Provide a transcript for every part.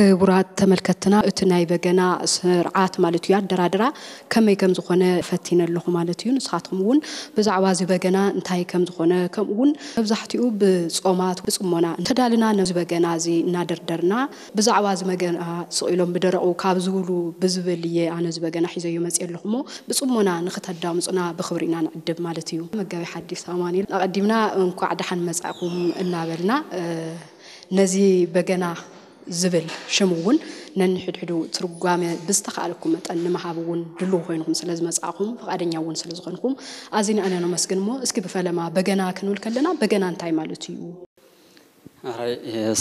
ክቡራት ተመልከትና፣ እቲ ናይ በገና ስርዓት ማለት እዩ ኣደራድራ ከመይ ከም ዝኾነ ፈቲነ ኣለኹ ማለት እዩ። ንስኻትኩም እውን ብዛዕባ እዚ በገና እንታይ ከም ዝኾነ፣ ከምኡ እውን መብዛሕትኡ ብጾማት ብጽሞና እንተዳልና ነዚ በገና እዚ እናደርደርና ብዛዕባ እዚ በገና ስቕ ኢሎም ብደረቑ ካብ ዝብሉ ብዝብል እየ ኣነ እዚ በገና ሒዘዮ መፅእ ኣለኹ እሞ ብጽሞና ንኽተዳምፁና ብኽብሪ ኢና ንዕድብ ማለት እዩ። መጋቢ ሓዲስ ኣማኑኤል ኣቐዲምና እንኳዕ ደሓን መጻእኩም እናበልና ነዚ በገና ዝብል ሽም እውን ነንሕድሕዱ ትርጓመ ብዝተኻእለኩም መጠን ንምሃብ እውን ድልው ኮይንኩም ስለ ዝመጻእኹም ፍቓደኛ እውን ስለ ዝኾንኩም ኣዚና ኢና ነመስግን። እሞ እስኪ ብፈለማ በገና ክንብል ከለና በገና እንታይ ማለት እዩ? ኣራይ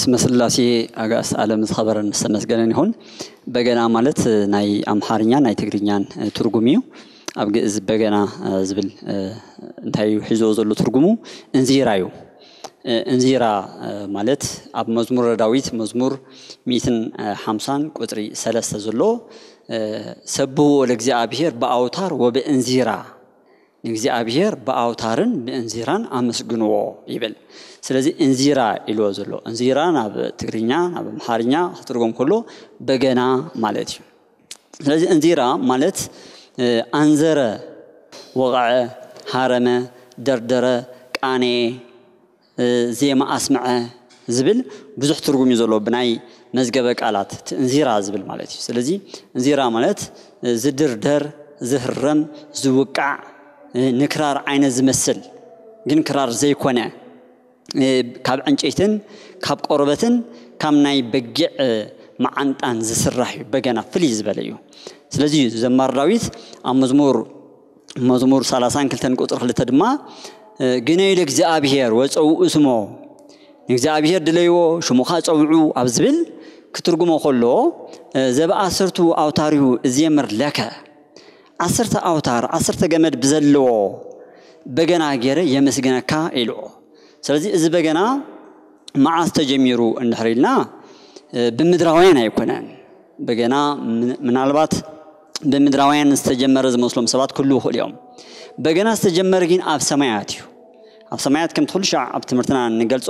ስመ ስላሴ ኣጋእዝተ ዓለም ዝኸበረን ዝተመስገነን ይኹን። በገና ማለት ናይ ኣምሓርኛ ናይ ትግርኛን ትርጉም እዩ። ኣብ ግእዝ በገና ዝብል እንታይ እዩ ሒዞ ዘሎ ትርጉሙ? እንዚራ እዩ። እንዚራ ማለት ኣብ መዝሙረ ዳዊት መዝሙር ሚእትን ሓምሳን ቁፅሪ ሰለስተ ዘሎ ሰብዎ ለእግዚኣብሔር ብኣውታር ወብእንዚራ ንእግዚኣብሔር ብኣውታርን ብእንዚራን ኣመስግንዎ ይብል። ስለዚ እንዚራ ኢልዎ ዘሎ እንዚራ ናብ ትግርኛ ናብ ኣምሓርኛ ክትርጎም ከሎ በገና ማለት እዩ። ስለዚ እንዚራ ማለት ኣንዘረ፣ ወቕዐ፣ ሃረመ፣ ደርደረ፣ ቃነየ፣ ዜማ ኣስምዐ ዝብል ብዙሕ ትርጉም እዩ ዘለዎ ብናይ መዝገበ ቃላት እቲ እንዚራ ዝብል ማለት እዩ። ስለዚ እንዚራ ማለት ዝድርደር፣ ዝህረም፣ ዝውቃዕ፣ ንክራር ዓይነት ዝመስል ግን ክራር ዘይኮነ ካብ ዕንጨይትን ካብ ቆርበትን ካብ ናይ በጊዕ መዓንጣን ዝስራሕ እዩ። በገና ፍልይ ዝበለ እዩ። ስለዚ እዩ ዘማር ዳዊት ኣብ መዝሙር መዝሙር ሰላሳን ክልተን ቁፅሪ ክልተ ድማ ግነዩ ለእግዚኣብሔር ወፀውኡ ስሞ ንእግዚኣብሔር ድለይዎ ሽሙ ከዓ ፀውዑ ኣብ ዝብል ክትርጉሞ ከሎ ዘብኣስርቱ ኣውታርዩ እዜምር ለከ ዓሰርተ ኣውታር ዓሰርተ ገመድ ብዘለዎ በገና ገይረ የመስግነካ ኢልዎ። ስለዚ እዚ በገና መዓስ ተጀሚሩ እንድሕር ኢልና ብምድራውያን ኣይኮነን። በገና ምናልባት ብምድራውያን ዝተጀመረ ዝመስሎም ሰባት ክህልዉ ይኽእሉ እዮም። በገና ዝተጀመረ ግን ኣብ ሰማያት እዩ። ኣብ ሰማያት ከምቲ ኩሉ ሻዕ ኣብ ትምህርትና እንገልጾ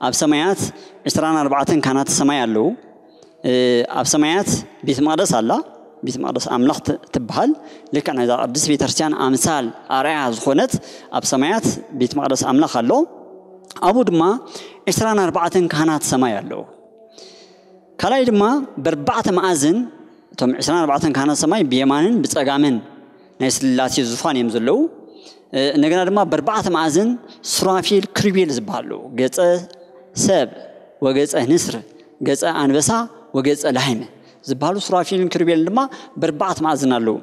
ኣብ ሰማያት ዕስራን ኣርባዕተን ካህናተ ሰማይ ኣለዉ። ኣብ ሰማያት ቤት መቕደስ ኣላ። ቤት መቕደስ ኣምላኽ ትበሃል። ልክዕ ናይዛ ቅድስት ቤተክርስትያን ኣምሳል ኣርኣያ ዝኾነት ኣብ ሰማያት ቤት መቕደስ ኣምላኽ ኣሎ። ኣብኡ ድማ ዕስራን ኣርባዕተን ካህናት ሰማይ ኣለዉ። ካልኣይ ድማ በርባዕተ መኣዝን እቶም ዕስራን ኣርባዕተን ካህናት ሰማይ ብየማንን ብጸጋምን ናይ ስላሴ ዙፋን እዮም ዘለዉ። እንደገና ድማ በርባዕተ መኣዝን ሱራፊል ክሩቤል ዝበሃሉ ገጸ ሰብ ወገጸ ንስር ገጸ ኣንበሳ ወገጸ ላህመ ዝበሃሉ ሱራፊልን ክሩቤልን ድማ በርባዕተ መኣዝን ኣለዉ።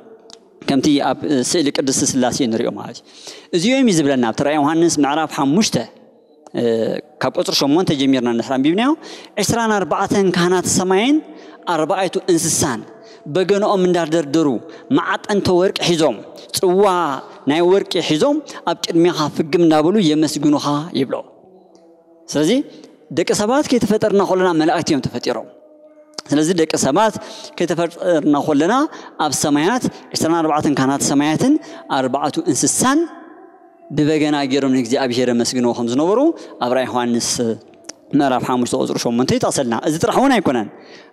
ከምቲ ኣብ ስእሊ ቅድስቲ ስላሴ ንሪኦ ማለት እዩ። እዚኦም እዩ ዝብለና ኣብቲ ራእይ ዮሃንስ ምዕራፍ ሓሙሽተ ካብ ቁፅሪ ሸሞንተ ጀሚርና እንድሕር ኣንቢብናዮ ዕስራን ኣርባዕተን ካህናት ሰማይን ኣርባዕቱ እንስሳን በገንኦም እንዳደርደሩ መዓጠንተ ወርቂ ሒዞም ፅዋ ናይ ወርቂ ሒዞም ኣብ ቅድሚኻ ፍግም እንዳበሉ የመስግኑኻ ይብሎ። ስለዚ ደቂ ሰባት ከይተፈጠርና ከለና መላእክቲ እዮም ተፈጢሮም። ስለዚ ደቂ ሰባት ከይተፈጠርና ከለና ኣብ ሰማያት ዕስራን ኣርባዕተን ካህናት ሰማያትን ኣርባዕቱ እንስሳን ብበገና ገይሮም ንእግዚኣብሔር የመስግንዎ ከም ዝነበሩ ኣብ ራእይ ዮሃንስ ምዕራፍ ሓሙሽተ ቁፅሪ ሸሞንተ ይጠቕሰልና። እዚ ጥራሕ እውን ኣይኮነን።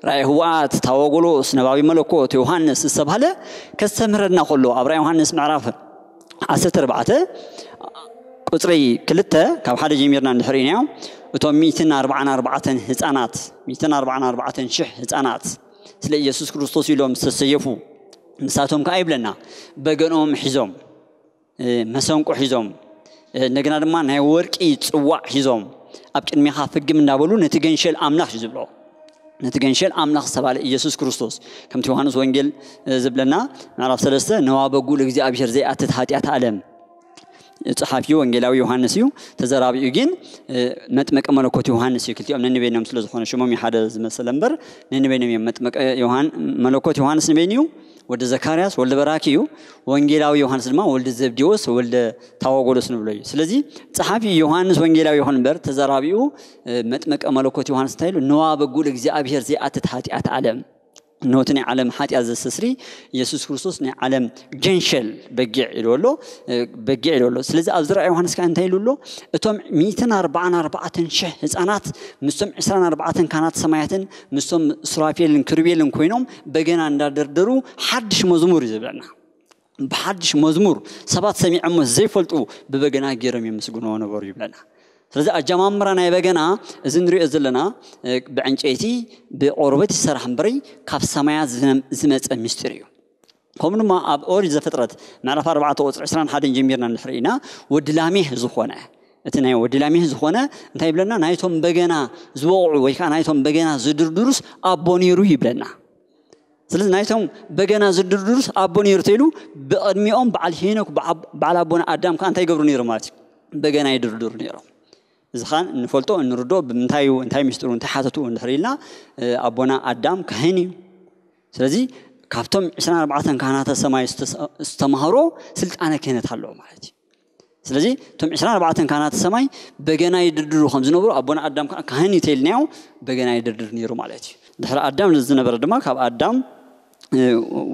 ራእይ ህወኣት፣ ታወጎሎስ፣ ነባቢ መለኮት፣ ዮሃንስ ዝተባህለ ከስተምህረና ከሎ ኣብ ራእይ ዮሃንስ ምዕራፍ ዓሰርተ ኣርባዕተ ቁፅሪ ክልተ ካብ ሓደ ጀሚርና እንድሕር ኢናዮ እቶም ሚእትን ኣርባዓን ኣርባዕተን ህፃናት ሚእትን ኣርባዓን ኣርባዕተን ሽሕ ህፃናት ስለ ኢየሱስ ክርስቶስ ኢሎም ዝተሰየፉ ንሳቶም ከዓ ይብለና በገኖም ሒዞም መሰንቆ ሒዞም እንደገና ድማ ናይ ወርቂ ፅዋዕ ሒዞም ኣብ ቅድሚኻ ፍግም እንዳበሉ ነቲ ገንሸል ኣምላኽ እዩ ዝብሎ። ነቲ ገንሸል ኣምላኽ ዝተባለ ኢየሱስ ክርስቶስ ከምቲ ዮሃንስ ወንጌል ዝብለና ምዕራፍ ሰለስተ ነዋ በጉ ለእግዚኣብሔር ዘይኣትት ሓጢኣት ዓለም። ፀሓፊ ወንጌላዊ ዮሃንስ እዩ። ተዘራቢኡ ግን መጥመቀ መለኮት ዮሃንስ እዩ። ክልቲኦም ነንበይኖም ስለ ዝኾነ ሽሞም ሓደ ዝመሰለ እምበር ነንበይኖም እዮም። መጥመቀ መለኮት ዮሃንስ ንበይኑ እዩ። ወልደ ዘካርያስ ወልደ በራኪ እዩ። ወንጌላዊ ዮሃንስ ድማ ወልደ ዘብዴዎስ ወልደ ታወጎሎስ ንብሎ እዩ። ስለዚ ፀሓፊ ዮሃንስ ወንጌላዊ ይኹን እምበር ተዘራቢኡ መጥመቀ መለኮት ዮሃንስ እንታይ ኢሉ ነዋ በጉ ለእግዚኣብሔር ዘይኣትት ሓጢኣት ዓለም ነቲ ናይ ዓለም ሓጢኣት ዘስተስሪ የሱስ ክርስቶስ ናይ ዓለም ጀንሸል በጊዕ ኢሉ ኣሎ። በጊዕ ኢሉ ኣሎ። ስለዚ ኣብዚ ራእይ ዮሃንስ ከኣ እንታይ ኢሉ ኣሎ? እቶም ሚእትን ኣርባዓን ኣርባዕተን ሽሕ ህፃናት ምስቶም ዕስራን ኣርባዕተን ካህናት ሰማያትን ምስቶም ሱራፌልን ክሩቤልን ኮይኖም በገና እንዳደርደሩ ሓድሽ መዝሙር እዩ ዝብለና። ብሓድሽ መዝሙር ሰባት ሰሚዖሞ ዘይፈልጡ ብበገና ገይሮም የመስግንዎ ነበሩ ይብለና። ስለዚ ኣጀማምራ ናይ በገና እዚ ንሪኦ ዘለና ብዕንጨይቲ ብቆርበት ይሰራሕ እምበሪ ካብ ሰማያት ዝመፀ ምስጢር እዩ። ከምኡ ድማ ኣብ ኦሪት ዘፍጥረት ምዕራፍ ኣርባዕተ ቁፅሪ ዕስራን ሓደን ጀሚርና እንድሕር ኢና ወዲ ላሜህ ዝኾነ እቲ ናይ ወዲ ላሜህ ዝኾነ እንታይ ይብለና? ናይቶም በገና ዝወቕዑ ወይ ከዓ ናይቶም በገና ዝድርድሩስ ኣቦ ነይሩ ይብለና። ስለዚ ናይቶም በገና ዝድርድሩስ ኣቦ ነይሩ ተይሉ ብቕድሚኦም በዓል ሄኖክ በዓል ኣቦና ኣዳም ከዓ እንታይ ይገብሩ ነይሩ ማለት እዩ? በገና ይድርድሩ ነይሮም። እዚ ከዓ እንፈልጦ እንርዶ ብምንታይ እዩ እንታይ ምስጢሩ እንታይ ሓተቱ እንድሕር ኢልና ኣቦና ኣዳም ካህን እዩ። ስለዚ ካብቶም ዕስራን ኣርባዕተን ካህናተ ሰማይ ዝተማህሮ ስልጣነ ክህነት ኣለዎ ማለት እዩ። ስለዚ እቶም ዕስራን ኣርባዕተን ካህናተ ሰማይ በገና ይድርድሩ ከም ዝነብሩ ኣቦና ኣዳም ከዓ ካህን እዩ ተይልናዮ በገና ይድርድር ነይሩ ማለት እዩ። ድሕሪ ኣዳም ዝነበረ ድማ ካብ ኣዳም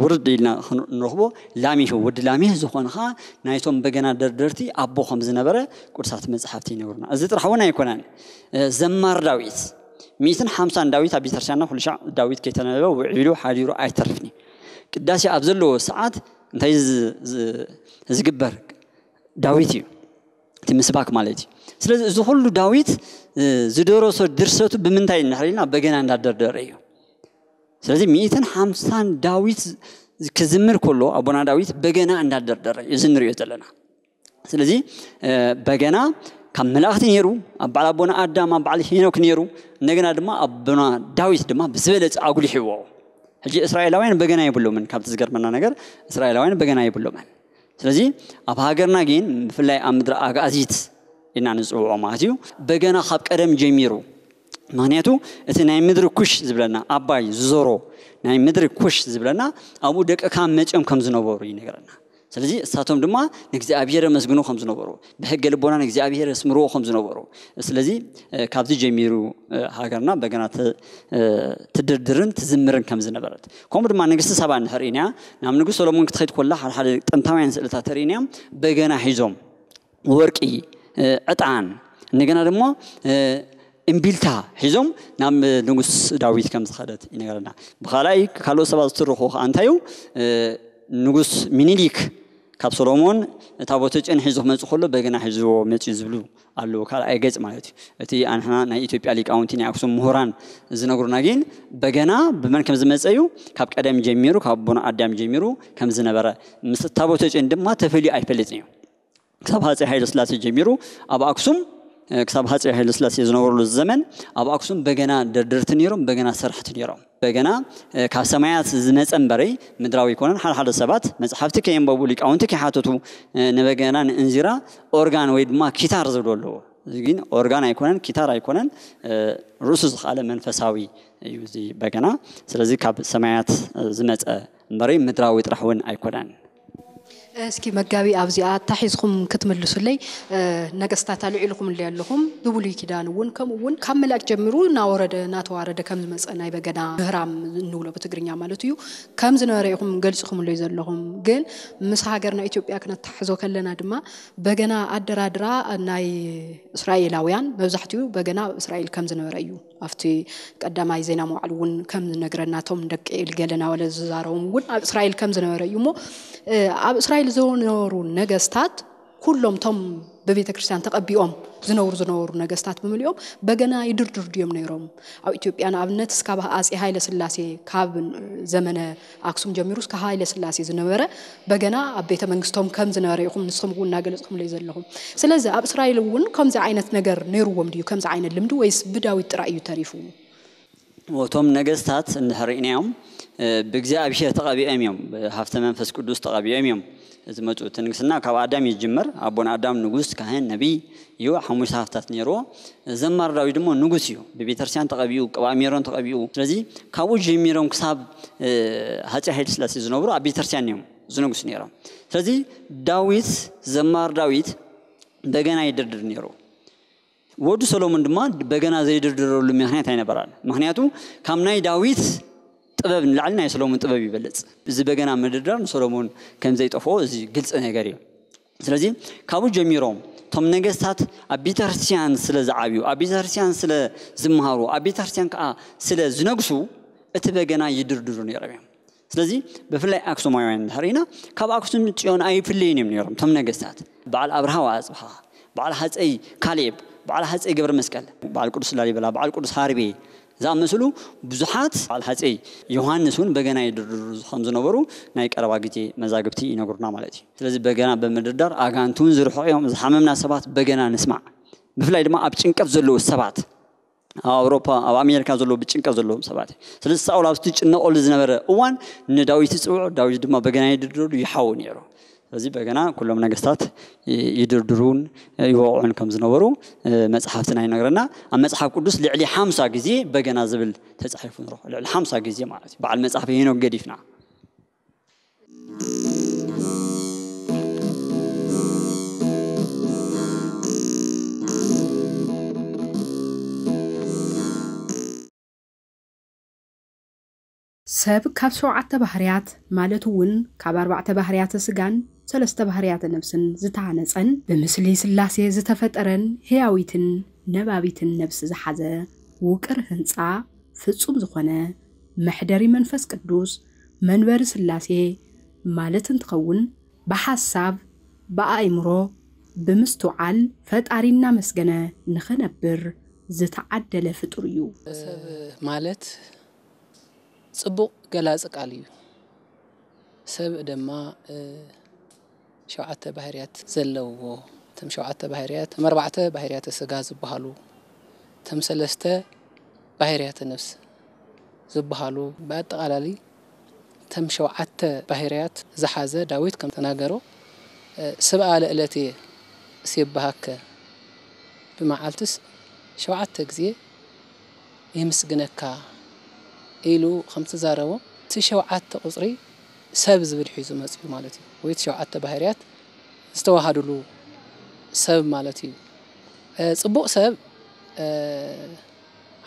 ውርድ ኢልና ንረኽቦ ላሜህ ወዲ ላሜህ ዝኾነ ከዓ ናይቶም በገና ደርደርቲ ኣቦ ከም ዝነበረ ቅዱሳት መፅሓፍቲ ይነግሩና። እዚ ጥራሕ እውን ኣይኮነን። ዘማር ዳዊት ሚእትን ሓምሳን ዳዊት ኣብ ቤተክርስትያንና ኩሉ ሻዕ ዳዊት ከይተነበበ ውዒሉ ሓዲሩ ኣይተርፍን እዩ። ቅዳሴ ኣብ ዘለዎ ሰዓት እንታይ ዝግበር? ዳዊት እዩ እቲ ምስባክ ማለት እዩ። ስለዚ እዚ ኩሉ ዳዊት ዝደረሶ ድርሰቱ ብምንታይ እንድሕር ኢልና በገና እንዳደርደረ እዩ። ስለዚ ሚእትን ሓምሳን ዳዊት ክዝምር ከሎ ኣቦና ዳዊት በገና እንዳደርደረ እዩ እዚ ንሪኦ ዘለና። ስለዚ በገና ካብ መላእክቲ ነይሩ፣ ኣብ በዓል ኣቦና ኣዳም ኣብ በዓል ሄኖክ ነይሩ፣ እንደገና ድማ ኣቦና ዳዊት ድማ ብዝበለፀ ኣጉሊሕዎ። ሕጂ እስራኤላውያን በገና የብሎምን። ካብቲ ዝገርመና ነገር እስራኤላውያን በገና የብሎምን። ስለዚ ኣብ ሃገርና ግን ብፍላይ ኣብ ምድሪ ኣጋዚት ኢና ንፅውዖ ማለት እዩ። በገና ካብ ቀደም ጀሚሩ ምክንያቱ እቲ ናይ ምድሪ ኩሽ ዝብለና ኣባይ ዝዞሮ ናይ ምድሪ ኩሽ ዝብለና ኣብኡ ደቂ ካም መፅኦም ከም ዝነበሩ ይነግረና። ስለዚ እሳቶም ድማ ንእግዚኣብሔር የመስግኑ ከም ዝነበሩ ብሕገ ልቦና ንእግዚኣብሔር የስምርዎ ከም ዝነበሩ ስለዚ ካብዚ ጀሚሩ ሃገርና በገና ትድርድርን ትዝምርን ከም ዝነበረት ከምኡ ድማ ንግስቲ ሳባ እንድሕር ኢና ናብ ንጉስ ሰሎሞን ክትኸይድ ኮላ ሓደ ሓደ ጥንታውያን ስእልታት ተርእይና በገና ሒዞም ወርቂ ዕጣን እንደገና ድማ እምቢልታ ሒዞም ናብ ንጉስ ዳዊት ከም ዝኸደት ይነገረና። ብኻልኣይ ካልኦት ሰባት ዝትርኹ ከዓ እንታዩ ንጉስ ሚኒሊክ ካብ ሶሎሞን ታቦተ ጨን ሒዙ ክመፅእ ከሎ በገና ሒዝዎ መፅኡ ዝብሉ ኣለዉ። ካልኣይ ገፅ ማለት እዩ። እቲ ኣንሕና ናይ ኢትዮጵያ ሊቃውንቲ ናይ ኣክሱም ምሁራን ዝነግሩና ግን በገና ብመን ከም ዝመፀ እዩ ካብ ቀደም ጀሚሩ ካብ ኣቦና ኣዳም ጀሚሩ ከም ዝነበረ ምስ ታቦተ ጨን ድማ ተፈልዩ ኣይፈልጥን እዩ። ክሳብ ሃፀይ ሃይለ ስላሴ ጀሚሩ ኣብ ኣክሱም ክሳብ ሃፀይ ሃይለ ስላሴ ዝነበሩሉ ዘመን ኣብ ኣክሱም በገና ደርደርቲ ነይሮም፣ በገና ሰራሕቲ ነይሮም። በገና ካብ ሰማያት ዝመፀ እምበረይ ምድራዊ ኣይኮነን። ሓደ ሓደ ሰባት መፅሓፍቲ ከየንበቡ ሊቃውንቲ ከይሓተቱ ንበገና ንእንዚራ ኦርጋን ወይ ድማ ኪታር ዝብሉ ኣለዎ። እዚ ግን ኦርጋን ኣይኮነን፣ ኪታር ኣይኮነን፣ ርእሱ ዝኸኣለ መንፈሳዊ እዩ እዚ በገና። ስለዚ ካብ ሰማያት ዝመፀ እምበረይ ምድራዊ ጥራሕ እውን ኣይኮነን። እስኪ መጋቢ ኣብዚኣ ኣታሒዝኹም ክትምልሱለይ ነገስታት ኣልዒልኹምለይ ኣለኹም። ብብሉይ ኪዳን እውን ከምኡ እውን ካብ መልኣክ ጀሚሩ እናወረደ እናተዋረደ ከም ዝመፀ ናይ በገና ምህራም እንብሎ ብትግርኛ ማለት እዩ ከም ዝነበረ ኢኹም ገሊፅኹምለይ ዘለኹም። ግን ምስ ሃገርና ኢትዮጵያ ክነተሓሕዞ ከለና ድማ በገና ኣደራድራ ናይ እስራኤላውያን መብዛሕትኡ በገና ኣብ እስራኤል ከም ዝነበረ እዩ። ኣብቲ ቀዳማይ ዜና መዋዕል እውን ከም ዝነግረና እቶም ደቂ ኤሊ ገለና ወለ ዝዛረቦም እውን ኣብ እስራኤል ከም ዝነበረ እዩ እሞ ኣብ እስራኤል ዝነበሩ ነገስታት ኩሎም እቶም ብቤተ ክርስቲያን ተቐቢኦም ዝነብሩ ዝነበሩ ነገስታት ብምልኦም በገና ይድርድሩ ድዮም ነይሮም? ኣብ ኢትዮጵያ ንኣብነት እስካብ ኣጼ ሃይለ ስላሴ ካብ ዘመነ ኣክሱም ጀሚሩ እስከ ሃይለ ስላሴ ዝነበረ በገና ኣብ ቤተ መንግስቶም ከም ዝነበረ ኢኹም ንስኹም እውን እናገለፅኹምለይ ዘለኹም። ስለዚ ኣብ እስራኤል እውን ከምዚ ዓይነት ነገር ነይርዎም ድዩ? ከምዚ ዓይነት ልምዲ ወይስ ብዳዊት ጥራይ እዩ ተሪፉ? እቶም ነገስታት እንድሕር ርኢናዮም ብእግዚኣብሔር ተቐቢኦም እዮም፣ ብሃፍተ መንፈስ ቅዱስ ተቐቢኦም እዮም ዝመፁ። እቲ ንግስና ካብ ኣዳም እዩ ዝጅመር። ኣቦና ኣዳም ንጉስ፣ ካህን፣ ነቢይ እዩ። ሓሙሽተ ሃፍታት ነይርዎ። ዘማር ዳዊት ድማ ንጉስ እዩ። ብቤተክርስትያን ተቐቢኡ፣ ቅብኣ ሜሮን ተቐቢኡ። ስለዚ ካብኡ ጀሚሮም ክሳብ ሃፀይ ሃይለ ስላሴ ዝነብሩ ኣብ ቤተክርስትያን እዮም ዝነግሱ ነይሮም። ስለዚ ዳዊት ዘማር ዳዊት በገና ይድርድር ነይሩ። ወዱ ሰሎሞን ድማ በገና ዘይድርድረሉ ምክንያት ኣይነበራን። ምክንያቱ ካብ ናይ ዳዊት ጥበብ ንላዕሊ ናይ ሰሎሞን ጥበብ ይበልጽ። እዚ በገና ምድርዳር ንሰሎሞን ከም ዘይጠፍኦ እዚ ግልጺ ነገር እዩ። ስለዚ ካብኡ ጀሚሮም እቶም ነገስታት ኣብ ቤተክርስትያን ስለ ዝዓብዩ፣ ኣብ ቤተክርስትያን ስለ ዝመሃሩ፣ ኣብ ቤተክርስትያን ከዓ ስለ ዝነግሱ እቲ በገና ይድርድሩ ነይሮም እዮም። ስለዚ ብፍላይ ኣክሱማውያን እንድሕር ኢና፣ ካብ ኣክሱም ጽዮን ኣይፍለዩን እዮም ነይሮም እቶም ነገስታት። በዓል ኣብርሃ ወኣጽብሃ፣ በዓል ሃጸይ ካሌብ፣ በዓል ሃጸይ ገብረ መስቀል፣ በዓል ቅዱስ ላሊበላ፣ በዓል ቅዱስ ሃርቤ ዝኣመሰሉ ብዙሓት፣ በዓል ሃጸይ ዮሃንስ እውን በገና ይድርድሩ ከም ዝነበሩ ናይ ቀረባ ግዜ መዛግብቲ ይነግሩና ማለት እዩ። ስለዚ በገና ብምድርዳር ኣጋንንቲ እውን ዝርሕቑ እዮም። ዝሓመምና ሰባት በገና ንስማዕ። ብፍላይ ድማ ኣብ ጭንቀት ዘለዉ ሰባት፣ ኣብ ኣውሮፓ፣ ኣብ ኣሜሪካ ዘለዉ ብጭንቀት ዘለዎም ሰባት እዩ። ስለዚ ሳኦል ኣብቲ ዝጭነቐሉ ዝነበረ እዋን ንዳዊት ይጽውዖ፣ ዳዊት ድማ በገና ይድርድረሉ ይሓው ነይሩ። ስለዚ በገና ኩሎም ነገስታት ይ-፣ ይድርድሩን ይወቕዑን ከም ዝነበሩ፣ እ፣ መጽሓፍትና ይነግረና። ኣብ መጽሓፍ ቅዱስ ልዕሊ ሓምሳ ግዜ በገና ዝብል ተጻሒፉ ንረኽቦ። ልዕሊ ሓምሳ ግዜ ማለት እዩ። በዓል መጽሓፍ ሄኖክ ገዲፍና። ሰብ ካብ ሸውዓተ ባህርያት፣ ማለት እውን ካብ ኣርባዕተ ባህርያተ ስጋን ሰለስተ ባህርያተ ነፍስን ዝተሃነጸን፣ ብምስሊ ስላሴ ዝተፈጠረን ህያዊትን ነባቢትን ነፍሲ ዝሓዘ ውቅር ህንጻ ፍጹም ዝኾነ መሕደሪ መንፈስ ቅዱስ መንበሪ ስላሴ ማለት እንትኸውን፣ ብሓሳብ፣ ብኣእምሮ፣ ብምስትውዓል ፈጣሪ እናመስገነ ንኽነብር ዝተዓደለ ፍጡር እዩ። ሰብ ማለት ጽቡቕ ገላጺ ቃል እዩ። ሰብ ድማ፣ እ፣ ሸውዓተ ባህርያት ዘለውዎ፣ እቶም ሸውዓተ ባህርያት፣ እቶም ኣርባዕተ ባህርያተ ስጋ ዝበሃሉ፣ እቶም ሰለስተ ባህርያተ ነፍስ ዝበሃሉ፣ ብኣጠቓላሊ እቶም ሸውዓተ ባህርያት ዝሓዘ ዳዊት ከም ተናገሮ፣ እ፣ ስብኣ ለእለትየ እሴብሃከ፣ ብመዓልትስ ሸውዓተ ግዜ የምስግነካ ኢሉ ከም ተዛረቦ፣ እቲ ሸውዓተ ቁጽሪ ሰብ ዝብል ሒዙ መጺኡ ማለት እዩ። ወይ እቲ ሸውዓተ ባህርያት ዝተዋሃዱሉ ሰብ ማለት እዩ። እ፣ ጽቡቕ ሰብ፣ እ፣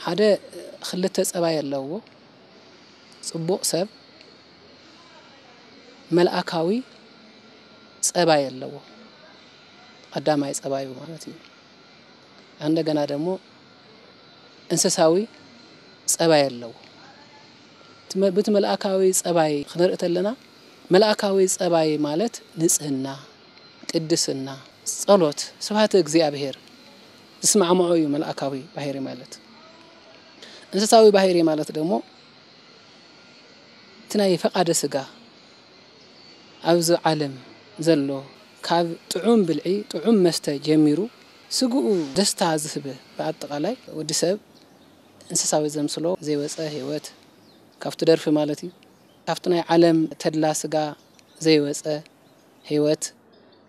ሓደ ክልተ ጸባይ ኣለዎ። ጽቡቕ ሰብ መልኣካዊ ጸባይ ኣለዎ። ቀዳማይ ጸባዩ ማለት እዩ። እንደገና ደግሞ እንስሳዊ ጸባይ ኣለዎ። እቲ መ-፣ በቲ መልኣካዊ ጸባይ ክንርኢ ተለና፣ መልኣካዊ ጸባይ ማለት ንጽህና፣ ቅድስና፣ ጸሎት፣ ስብሐተ እግዚኣብሔር ዝስማዕምዖ እዩ መልኣካዊ ባህሪ ማለት። እንስሳዊ ባህሪ ማለት ደግሞ እቲ ናይ ፈቓደ ስጋ ኣብዚ ዓለም ዘሎ፣ ካብ ጥዑም ብልዒ፣ ጥዑም መስተ ጀሚሩ፣ ስግኡ ደስታ ዝህብ፣ ብኣጠቓላይ ወዲ ሰብ እንስሳዊ ዘምስሎ ዘይወጸ ህይወት፣ ካብቲ ደርፊ ማለት እዩ። ካብቲ ናይ ዓለም ተድላ ስጋ ዘይወጸ ህይወት፣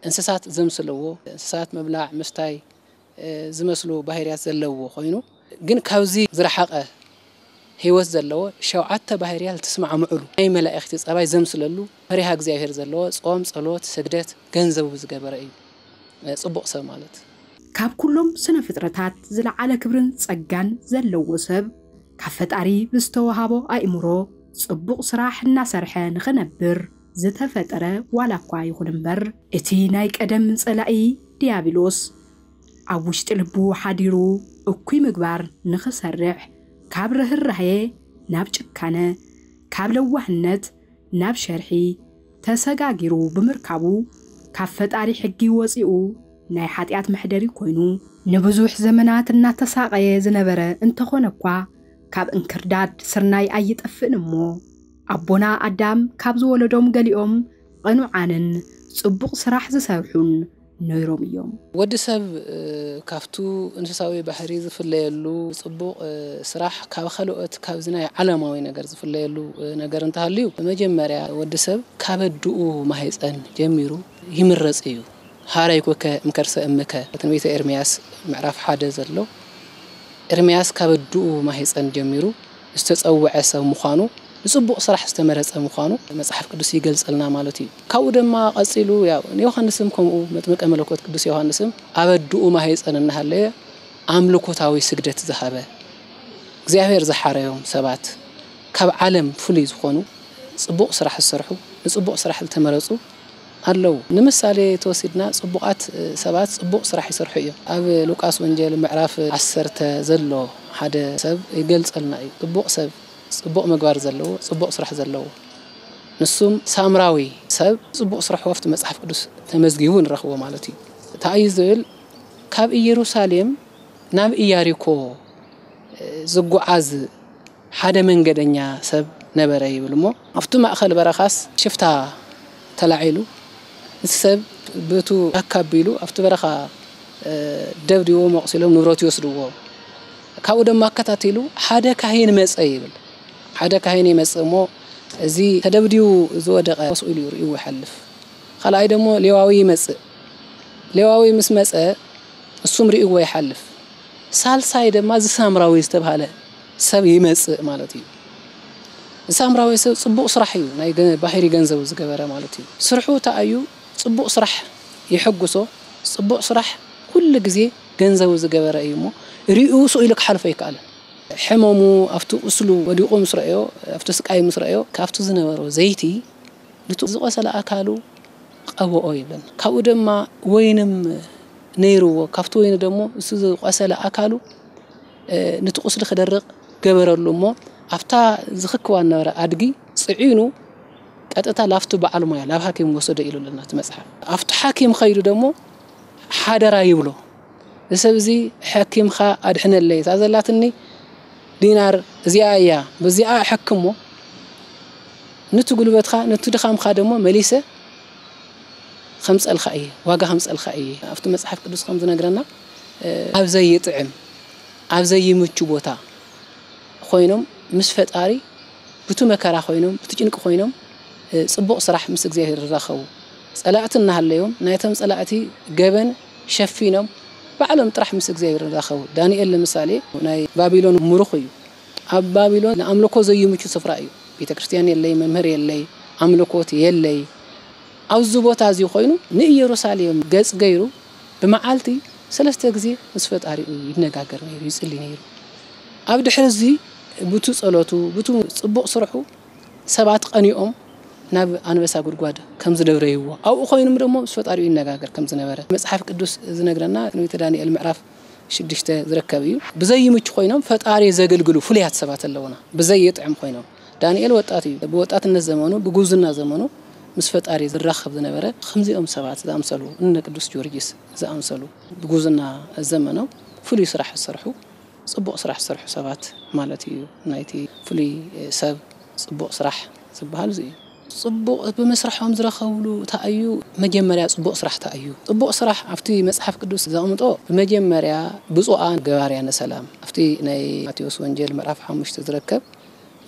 እንስሳት ዘምስልዎ፣ እንስሳት ምብላዕ፣ ምስታይ፣ እ፣ ዝመስሉ ባህርያት ዘለዎ ኮይኑ፣ ግን ካብዚ ዝረሓቐ ህይወት ዘለዎ ሸውዓተ ባህርያት ዝተስማዕምዕሉ፣ ናይ መላእኽቲ ጸባይ ዘምስለሉ፣ ፈሪሃ እግዚኣብሔር ዘለዎ፣ ጾም፣ ጸሎት፣ ስግደት ገንዘቡ ዝገበረ እዩ፣ እ፣ ጽቡቕ ሰብ ማለት። ካብ ኩሎም ስነ ፍጥረታት ዝለዓለ ክብርን ጸጋን ዘለዎ ሰብ፣ ካብ ፈጣሪ ብዝተወሃቦ ኣእምሮ ጽቡቕ ስራሕ እናሰርሐ ንኽነብር ዝተፈጠረ ዋላ እኳ ይኹን እምበር፣ እቲ ናይ ቀደም ጸላኢ ድያብሎስ ኣብ ውሽጢ ልቡ ሓዲሩ እኩይ ምግባር ንኽሰርሕ፣ ካብ ርህራሄ ናብ ጭካነ፣ ካብ ለዋህነት ናብ ሸርሒ ተሰጋጊሩ ብምርካቡ፣ ካብ ፈጣሪ ሕጊ ወጺኡ ናይ ሓጢኣት መሕደሪ ኮይኑ፣ ንብዙሕ ዘመናት እናተሳቐየ ዝነበረ እንተኾነ እኳ፣ ካብ እንክርዳድ ስርናይ ኣይጠፍእን እሞ፣ ኣቦና ኣዳም ካብ ዝወለዶም ገሊኦም ቕኑዓንን ጽቡቕ ስራሕ ዝሰርሑን ነይሮም እዮም። ወዲ ሰብ ካብቱ እንስሳዊ ባህሪ ዝፍለየሉ ጽቡቕ ስራሕ ካብ ኻልኦት ካብዚ ናይ ዓለማዊ ነገር ዝፍለየሉ ነገር እንተሃልዩ፣ መጀመርያ ወዲ ሰብ ካብ ኣድኡ ማህፀን ጀሚሩ ይምረጽ እዩ። ሀራይኩከ እምከርሰ እምከ፣ ትንቢተ ኤርምያስ ምዕራፍ ሓደ ዘሎ፣ ኤርምያስ ካብ ኣድኡ ማህፀን ጀሚሩ ዝተጸውዐ ሰብ ምዃኑ፣ ንጽቡቕ ስራሕ ዝተመረጸ ምዃኑ መጽሓፍ ቅዱስ ይገልጸልና ማለት እዩ። ካብኡ ድማ ቀጺሉ ያው ንዮሃንስም ከምኡ፣ መጥምቀ መለኮት ቅዱስ ዮሃንስም ኣብ ኣድኡ ማህፀን እናሃለየ ኣምልኮታዊ ስግደት ዝሃበ፣ እግዚኣብሔር ዝሓረዮም ሰባት፣ ካብ ዓለም ፍሉይ ዝኾኑ ጽቡቕ ስራሕ ዝሰርሑ፣ ንጽቡቕ ስራሕ ዝተመረጹ ኣለዉ። ንምሳሌ ተወሲድና፣ ጽቡቓት ሰባት ጽቡቕ ስራሕ ይሰርሑ እዮም። ኣብ ሉቃስ ወንጌል ምዕራፍ ዓሰርተ ዘሎ ሓደ ሰብ ይገልጸልና እዩ። ጽቡቕ ሰብ፣ ጽቡቕ ምግባር ዘለዎ፣ ጽቡቕ ስራሕ ዘለዎ፣ ንሱም ሳምራዊ ሰብ ጽቡቕ ስራሕ ኣብቲ መጽሓፍ ቅዱስ ተመዝጊቡ ንረኽቦ ማለት እዩ። እንታይ እዩ ዝብል? ካብ ኢየሩሳሌም ናብ ኢያሪኮ ዝጓዓዝ ሓደ መንገደኛ ሰብ ነበረ ይብል እሞ፣ ኣብቲ ማእኸል በረኻስ ሽፍታ ተላዒሉ፣ እቲ ሰብ ብእቱ ኣካቢሉ ኣብቲ በረኻ ደብዲቦ መቕሲሎም ንብረት ይወስድዎ። ካብኡ ድማ ኣከታቲሉ ሓደ ካህን መጸ ይብል። ሓደ ካህን ይመጽእ እሞ፣ እዚ ተደብዲቡ ዝወደቐ ኮስ ኢሉ ርእይዎ ይሓልፍ። ካልኣይ ደሞ ሌዋዊ ይመጽእ። ሌዋዊ ምስ መጸ፣ እሱም ርእይዎ ይሓልፍ። ሳልሳይ ድማ እዚ ሳምራዊ ዝተባህለ ሰብ ይመጽእ ማለት እዩ። እዚ ሳምራዊ ሰብ ጽቡቕ ስራሕ እዩ፣ ናይ ገ-፣ ባህሪ ገንዘቡ ዝገበረ ማለት እዩ። ስርሑ እንታይ እዩ? ጽቡቕ ስራሕ የሐጉሶ። ጽቡቕ ስራሕ ኩሉ ግዜ ገንዘቡ ዝገበረ እዩ እሞ፣ ርእዩ ስቕ ኢሉ ክሓልፎ ኣይከኣለን። ሕመሙ ኣብቲ ቁስሉ ወዲቑ ምስ ረኣዮ፣ ኣብቲ ስቃይ ምስ ረኣዮ፣ ካብቲ ዝነበሮ ዘይቲ ንቱ ዝቆሰለ ኣካሉ ቀብኦ ይብለና። ካብኡ ድማ ወይንም ነይርዎ፣ ካብቲ ወይኒ ደሞ እሱ ዝቆሰለ ኣካሉ፣ እ፣ ነቲ ቁስሊ ክደርቕ ገበረሉ እሞ፣ ኣብታ ዝኽክዋ ዝነበረ ኣድጊ ጽዒኑ ቀጥታ ላፍቲ በዓል ሞያ ላብ ሓኪም ወሰዶ ኢሉ ኣለና እቲ መጽሓፍ። ኣብቲ ሓኪም ኸይዱ ደሞ ሓደራ ይብሎ። እዚ ሰብ እዚ፣ "ሓኪምኻ ኣድሕነለይ፣ እታ ዘላትኒ ዲናር እዚኣ እያ፣ በዚኣ ኣሐክሞ፣ ነቲ ጉልበትኻ፣ ነቲ ድኻምካ ደሞ መሊሰ ከምጸልካ እየ፣ ዋጋ ከምጸልካ እየ።" ኣብቲ መጽሓፍ ቅዱስ ከም ዝነግረና፣ እ፣ ኣብ ዘይጥዕም፣ ኣብ ዘይምቹ ቦታ ኮይኖም ምስ ፈጣሪ ብቱ መከራ ኮይኖም፣ ብቱ ጭንቂ ኮይኖም፣ እ፣ ጽቡቕ ስራሕ ምስ እግዚኣብሔር ዝራኸቡ፣ ጸላእቲ እናሃለዮም፣ ናይቶም ጸላእቲ ገበን ሸፊኖም፣ ባዕሎም ጥራሕ ምስ እግዚኣብሔር ዝራኸቡ። ዳንኤል ንምሳሌ ናይ ባቢሎን ምሩኽ እዩ። ኣብ ባቢሎን ንኣምልኮ ዘይምቹ ስፍራ እዩ። ቤተ ክርስቲያን የለይ፣ መምህር የለይ፣ ኣምልኮት የለይ። ኣብዚ ቦታ እዚ ኮይኑ ንኢየሩሳሌም ገጽ ገይሩ ብመዓልቲ ሰለስተ ግዜ ምስ ፈጣሪኡ ይነጋገር ነይሩ፣ ይጽሊ ነይሩ። ኣብ ድሕሪ እዚ ብቱ ጸሎቱ፣ ብቱ ጽቡቕ ስርሑ ሰባት ቀኒኦም ናብ ኣንበሳ ጉድጓድ ከም ዝደብረይዎ፣ ኣብኡ ኮይኖም ደሞ ምስ ፈጣሪኡ ይነጋገር ከም ዝነበረ መጽሓፍ ቅዱስ ዝነግረና። ትንቢተ ዳንኤል ምዕራፍ ሽዱሽተ ዝርከብ እዩ። ብዘይምቹ ኮይኖም ፈጣሪ ዘገልግሉ ፍሉያት ሰባት ኣለውና፣ ብዘይጥዕም ኮይኖም። ዳንኤል ወጣት እዩ። ብወጣትነት ዘመኑ፣ ብጉብዝና ዘመኑ ምስ ፈጣሪ ዝራኸብ ዝነበረ፣ ከምዚኦም ሰባት ዝኣምሰሉ፣ እነ ቅዱስ ጊዮርጊስ ዝኣምሰሉ፣ ብጉብዝና ዘመኖም ፍሉይ ስራሕ ዝሰርሑ፣ ጽቡቕ ስራሕ ዝሰርሑ ሰባት ማለት እዩ። ናይቲ ፍሉይ ሰብ ጽቡቕ ስራሕ ዝበሃል እዚ እዩ። ጽቡቕ ብምስራሖም ዝረኸብሉ እንታይ እዩ? መጀመርያ ጽቡቕ ስራሕ እንታይ እዩ? ጽቡቕ ስራሕ ኣብቲ መጽሓፍ ቅዱስ ዘቕምጦ፣ ብመጀመርያ ብፁዓን ገባርያነ ሰላም፣ ኣብቲ ናይ ማቴዎስ ወንጌል ምዕራፍ ሓሙሽተ ዝርከብ፣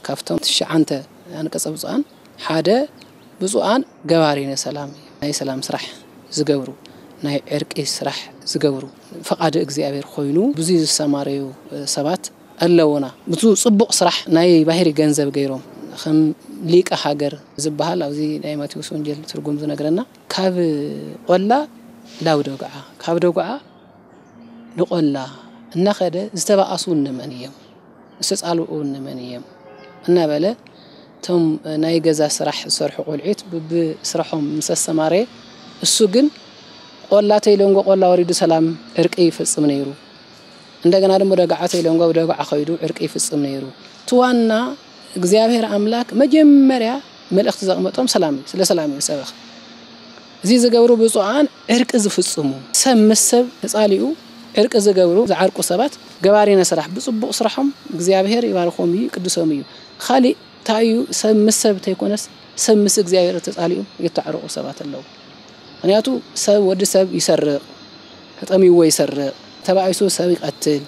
ካብቶም ትሽዓንተ ኣንቀጸ ብፁዓን ሓደ ብፁዓን ገባርያነ ሰላም እዩ። ናይ ሰላም ስራሕ ዝገብሩ፣ ናይ ዕርቂ ስራሕ ዝገብሩ፣ ፈቓዲ እግዚኣብሔር ኮይኑ ብዙይ ዝሰማረዩ ሰባት ኣለውና። ብዙ ጽቡቕ ስራሕ ናይ ባህሪ ገንዘብ ገይሮም፣ ከም ሊቀ ሃገር ዝበሃል ኣብዚ ናይ ማቴዎስ ወንጌል ትርጉም ዝነግረና፣ ካብ ቆላ ላው ደጉዓ፣ ካብ ደጉዓ ንቆላ እናኸደ ዝተባኣሱ እነመን እዮም? ዝተጻልኡ እነመን እዮም? እናበለ እቶም ናይ ገዛ ስራሕ ዝሰርሑ ቆልዑት ብብስራሖም ምስ ኣሰማረየ፣ እሱ ግን ቆላ ተይለንጎ ቆላ ወሪዱ ሰላም ዕርቂ ይፍጽም ነይሩ። እንደገና ደሞ ደጋዓ ተይለንጎ ደጋዓ ኸይዱ ዕርቂ ይፍጽም ነይሩ። እቲ ዋና እግዚኣብሔር ኣምላክ መጀመርያ መልእኽቲ ዘቕመጦም ሰላም እዩ፣ ስለ ሰላም እዩ ዝሰበኽ። እዚ ዝገብሩ ብፁዓን ዕርቂ ዝፍጽሙ፣ ሰብ ምስ ሰብ ተጻሊኡ ዕርቂ ዝገብሩ፣ ዝዓርቁ ሰባት ገባሪነ ስራሕ፣ ብጽቡቕ ስራሖም እግዚኣብሔር ይባርኾም እዩ፣ ይቅድሶም እዩ። ካሊእ እንታይ እዩ? ሰብ ምስ ሰብ ተይኮነስ ሰብ ምስ እግዚኣብሔር ተጻሊኡ የተዓረቑ ሰባት ኣለዉ። ምኽንያቱ ሰብ፣ ወዲ ሰብ ይሰርቕ፣ ተጠሚዎ ይሰርቕ፣ ተባኢሱ ሰብ ይቐትል።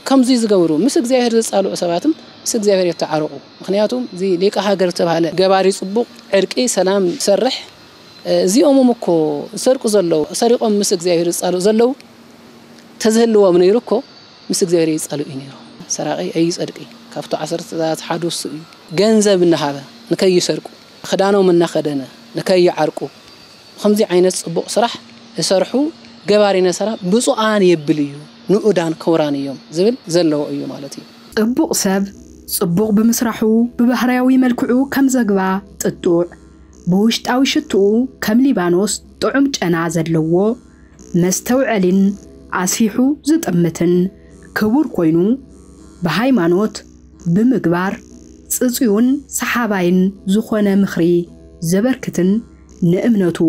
ከምዚ ዝገብሩ ምስ እግዚኣብሔር ዝጻልኡ ሰባትም ምስ እግዚኣብሔር የተዓረቑ። ምኽንያቱም እዚ ሊቀ ሃገር ዝተባህለ ገባሪ ጽቡቕ ዕርቂ ሰላም ዝሰርሕ፣ እ፣ እዚኦምም እኮ ዝሰርቁ ዘለዉ፣ ሰሪቖም ምስ እግዚኣብሔር ዝጻልኡ ዘለዉ ተዝህልዎም ነይሩ እኮ ምስ እግዚኣብሔር ይጻልኡ እዩ ነይሩ። ሰራቒ ኣይጸድቂ፣ ካብቲ ዓሰርተ ትእዛዛት ሓደ እሱ እዩ። ገንዘብ እናሃበ ንከይሰርቁ፣ ክዳኖም እናኸደነ ንከይዓርቁ፣ ከምዚ ዓይነት ጽቡቕ ስራሕ ዝሰርሑ ገባሪነ ስራሕ ብፁዓን የብል እዩ፣ ንኡዳን ክቡራን እዮም ዝብል ዘለዎ እዩ ማለት እዩ። ጽቡቕ ሰብ ጽቡቕ ብምስራሑ ብባህርያዊ መልክዑ ከም ዘግባ ጥጡዕ፣ ብውሽጣዊ ሽትኡ ከም ሊባኖስ ጥዑም ጨና ዘለዎ፣ መስተውዐሊን ኣስፊሑ ዝጥምትን ክቡር ኮይኑ፣ ብሃይማኖት፣ ብምግባር ጽጽዩን ሰሓባይን ዝኾነ ምኽሪ ዘበርክትን ንእምነቱ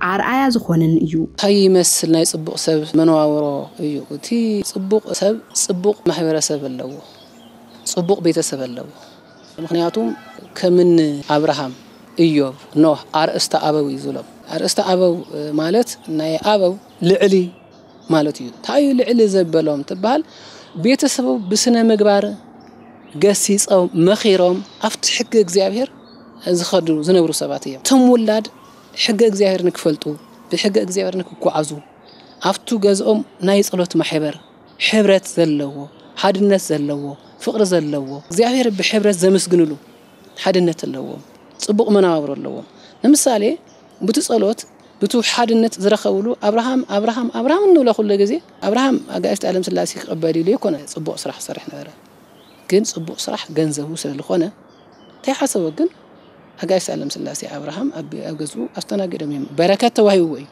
ኣርኣያ ዝኾንን እዩ። እንታይ ይመስል ናይ ጽቡቕ ሰብ መነባብሮ እዩ? እቲ ጽቡቕ ሰብ ጽቡቕ ማሕበረሰብ ኣለዎ፣ ጽቡቕ ቤተሰብ ኣለዎ። ምኽንያቱም ከምኒ ኣብርሃም፣ ኢዮብ፣ ኖህ ኣርእስተ ኣበው እዩ ዝብሎም። ኣርእስተ ኣበው ማለት ናይ ኣበው ልዕሊ ማለት እዩ። እንታይ እዩ ልዕሊ ዘበሎም ትበሃል? ቤተሰቡ ብስነ ምግባር ገሲጾም፣ መኺሮም፣ ኣብቲ ሕጊ እግዚኣብሔር ዝኸዱ ዝነብሩ ሰባት እዮም። እቶም ውላድ ሕጊ እግዚኣብሔር ንክፈልጡ፣ ብሕጊ እግዚኣብሔር ንክጓዓዙ፣ ኣብቱ ገዝኦም ናይ ጸሎት ማሕበር፣ ሕብረት ዘለዎ፣ ሓድነት ዘለዎ፣ ፍቕሪ ዘለዎ፣ እግዚኣብሔር ብሕብረት ዘመስግንሉ ሓድነት ኣለዎም። ጽቡቕ መነባብሮ ኣለዎም። ንምሳሌ፣ ብቲ ጸሎት፣ ብቲ ሓድነት ዝረኸብሉ ኣብርሃም፣ ኣብርሃም፣ ኣብርሃም እንብሎ ኩሉ ግዜ፣ ኣብርሃም ኣጋእዝቲ ዓለም ስላሴ ክቕበል ኢሉ ኣይኮነ ጽቡቕ ስራሕ ክሰርሕ ነበረ። ግን ጽቡቕ ስራሕ ገንዘቡ ስለ ዝኾነ፣ እንታይ ሓሰቦ ግን ኣጋእዝቲ ዓለም ስላሴ ኣብርሃም ኣብ፣ ኣብ ገዝኡ ኣስተናጊዶም እዮም። በረከት ተዋሂብዎ እዩ።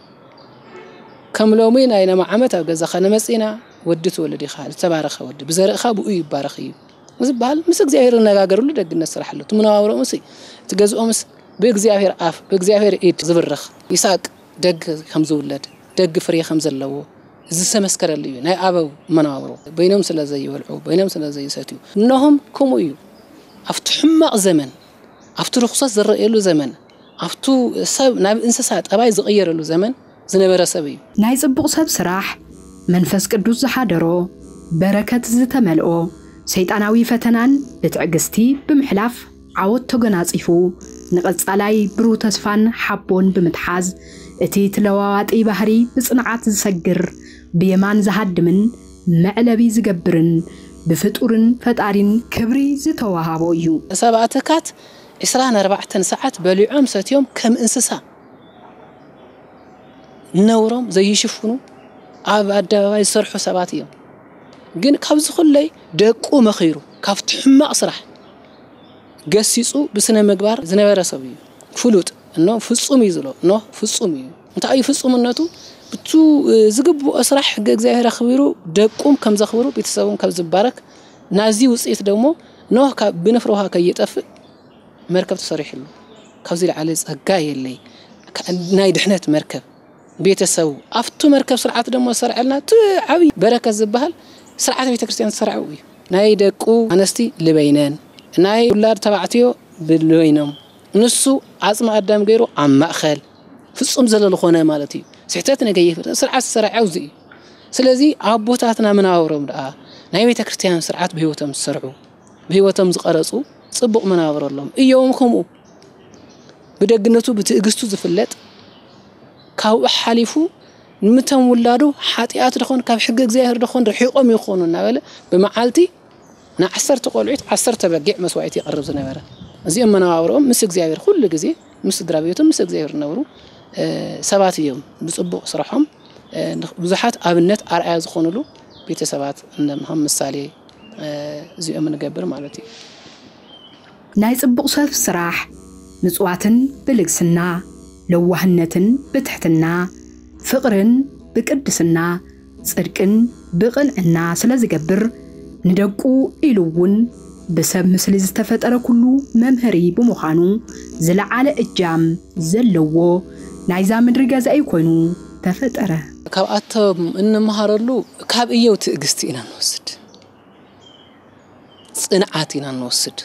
ከም ሎሚ ናይ ነማ ዓመት ኣብ ገዛኻ ንመጽእ ኢና፣ ወዲ ትወልድ ኢኻ፣ ዝተባረኸ ወዲ፣ ብዘርእኻ ብኡ ይባረኽ እዩ ዝበሃል ምስ እግዚኣብሔር ዝነጋገርሉ ደግነት ስራሕ ኣሎ። እቲ መነባብሮኦምስ፣ እቲ ገዝኦምስ ብእግዚኣብሔር ኣፍ፣ ብእግዚኣብሔር ኢድ ዝብርኽ፣ ይስሐቅ ደግ ከም ዝውለድ፣ ደግ ፍሬ ከም ዘለዎ ዝተመስከረሉ እዩ። ናይ ኣበው መነባብሮ፣ በይኖም ስለ ዘይበልዑ፣ በይኖም ስለ ዘይሰትዩ፣ እነሆም ከምኡ እዩ። ኣብቲ ሕማቕ ዘመን፣ ኣብቲ ርኹሰት ዝረኣየሉ ዘመን፣ ኣብቱ ሰብ ናብ እንስሳ ጠባይ ዝቕየረሉ ዘመን ዝነበረ ሰብ እዩ። ናይ ጽቡቕ ሰብ ስራሕ፣ መንፈስ ቅዱስ ዝሓደሮ፣ በረከት ዝተመልኦ፣ ሰይጣናዊ ፈተናን ብትዕግስቲ ብምሕላፍ ዓወት ተጎናጺፉ፣ ንቐጻላይ ብሩህ ተስፋን ሓቦን ብምትሓዝ፣ እቲ ትለዋዋጢ ባህሪ ብጽንዓት ዝሰግር፣ ብየማን ዝሃድምን መዕለቢ ዝገብርን፣ ብፍጡርን ፈጣሪን ክብሪ ዝተዋሃቦ እዩ። ሰብኣትካት ዕስራን ኣርባዕተን ሰዓት በሊዖም ሰትዮም ከም እንስሳ ነውሮም ዘይሽፍኑ ኣብ ኣደባባይ ዝሰርሑ ሰባት እዮም። ግን ካብዚ ኩለይ ደቁ መኺሩ፣ ካብቲ ሕማቕ ስራሕ ገሲጹ ብስነ ምግባር ዝነበረ ሰብ እዩ። ፍሉጥ፣ እኖ ፍጹም እዩ ዝብሎ፣ እኖ ፍጹም እዩ። እንታይ እዩ ፍጹምነቱ? ብቱ ዝግብኦ ስራሕ ሕገ እግዚኣብሔር ኣኽቢሩ፣ ደቁም ከም ዘኽብሩ፣ ቤተሰቡም ከም ዝባረክ፣ ናዚ ውጽኢት ደግሞ ኖህ ካብ ብንፍረ ውሃ ከይጠፍእ መርከብ ተሰሪሕሉ። ካብዚ ላዕሊ ጸጋ የለይ። ከ-፣ ናይ ድሕነት መርከብ፣ ቤተሰቡ ኣብቱ መርከብ ስርዓት ደሞ ዝሰርዐልና እቲ ዓብዪ በረከት ዝበሃል ስርዓት ቤተ ክርስቲያን ዝሰርዐው እዩ። ናይ ደቁ ኣነስቲ ልበይነን፣ ናይ ውላድ ተባዕትዮ ብልበይኖም፣ ንሱ ዓጽሚ ኣዳም ገይሩ ኣብ ማእኸል ፍጹም ዘለሉ ኾነ ማለት እዩ። ስሕተት ነገይፍር ስርዓት ዝሰርዐው እዚ እዩ። ስለዚ ኣቦታትና መናብሮም ደኣ ናይ ቤተ ክርስቲያን ስርዓት ብህይወቶም ዝሰርዑ፣ ብህይወቶም ዝቐረጹ ጽቡቕ መናብሮ ኣለዎም። እዮም ከምኡ ብደግነቱ ብትዕግስቱ ዝፍለጥ፣ ካብኡ ሓሊፉ ንምቶም ውላዱ ሓጢኣት ደኾን ካብ ሕጊ እግዚኣብሔር ደኾን ርሒቖም ይኾኑ እናበለ ብመዓልቲ ንዓሰርተ ቆልዑት ዓሰርተ በጊዕ መስዋዕቲ የቕርብ ዝነበረ። እዚኦም መነባብሮኦም ምስ እግዚኣብሔር ኩሉ ግዜ ምስ ስድራ ቤቶም ምስ እግዚኣብሔር ዝነብሩ፣ እ፣ ሰባት እዮም። ብጽቡቕ ስርሖም፣ እ፣ ብዙሓት ኣብነት ኣርኣያ ዝኾኑሉ ቤተሰባት ከም ምሳሌ፣ እ፣ እዚኦም ንገብር ማለት እዩ። ናይ ጽቡቕ ሰብ ስራሕ ምጽዋትን ብልግስና፣ ለዋህነትን ብትሕትና፣ ፍቕርን ብቅድስና፣ ጽድቅን ብቕንዕና ስለ ዝገብር፣ ንደቁ ኢሉ እውን ብሰብ ምስሊ ዝተፈጠረ ኩሉ መምሃሪ ብምዃኑ፣ ዝለዓለ እጃም ዘለዎ ናይዛ ምድሪ ገዛኢ ኮይኑ ተፈጠረ። ካብኣቶም እንመሃረሉ ካብ እየው ትዕግስቲ ኢና ንወስድ። ጽንዓት ኢና ንወስድ።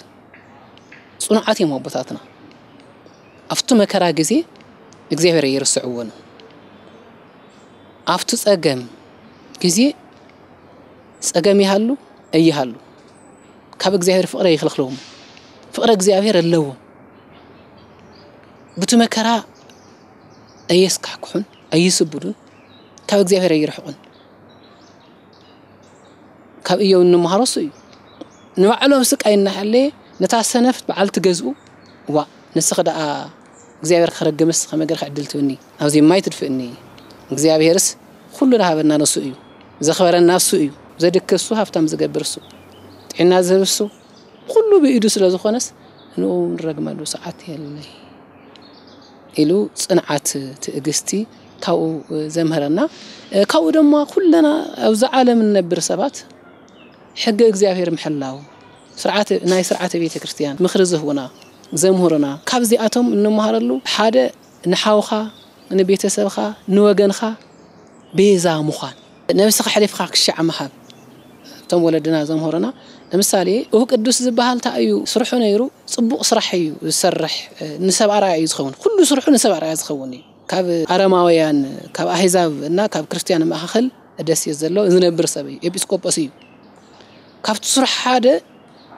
ጽኑዓት እዮም ኣቦታትና። ኣብቲ መከራ ግዜ እግዚኣብሔር ኣይርስዕዎን። ኣብቲ ጸገም ግዜ ጸገም ይሃሉ ኣይሃሉ ካብ እግዚኣብሔር ፍቕሪ ኣይኽልኽልዎም። ፍቕሪ እግዚኣብሔር ኣለዎም። ብቲ መከራ ኣየስካሕክሑን ኣይስብዱን፣ ካብ እግዚኣብሔር ኣይርሕቑን። ካብ እዮብ እንመሃሮ እሱ እዩ። ንባዕሎም ስቃይ እናሓለየ ነታ ሰነፍት በዓልቲ ገዝኡ፣ "ዋ፣ ንስኺ ደኣ እግዚኣብሔር ክረግምስ ከመይ ገርኪ ዕድል ትብኒ? ኣብዚ ማይ ትድፍእኒ? እግዚኣብሔርስ ኩሉ ዝሃበና ንሱ እዩ። ዘኽበረና እሱ እዩ። ዘድክስ እሱ፣ ሃብታም ዝገብር እሱ፣ ጥዕና ዝህብ እሱ፣ ኩሉ ብኢዱ ስለ ዝኾነስ ንኡ ንረግመሉ ሰዓት የለይ ኢሉ ጽንዓት፣ ትዕግስቲ ካብኡ ዘምህረና። ካብኡ ድማ ኩለና ኣብዚ ዓለም እንነብር ሰባት ሕገ እግዚኣብሔር ምሕላው፣ ስርዓት፣ ናይ ስርዓተ ቤተ ክርስቲያን ምኽሪ ዝህቡና፣ ዘምህሩና፣ ካብዚኣቶም እንመሃረሉ ሓደ ንሓውኻ፣ ንቤተሰብኻ፣ ንወገንካ ቤዛ ምዃን፣ ነብስኻ ኣሕሊፍካ ክሻዕ ምሃብ። እቶም ወለድና ዘምህሩና፣ ንምሳሌ፣ እሁ ቅዱስ ዝበሃል እንታይ እዩ ስርሑ ነይሩ? ጽቡቕ ስራሕ እዩ ዝሰርሕ፣ ንሰብ ኣርኣያ እዩ ዝኸውን። ኩሉ ስርሑ ንሰብ ኣርኣያ ዝኸውን እዩ። ካብ ኣረማውያን፣ ካብ ኣህዛብ እና ካብ ክርስትያን መኻኸል ደስ እዩ ዘሎ ዝነብር ሰብ እዩ፣ ኤጲስቆጶስ እዩ። ካብቲ ስራሕ ሓደ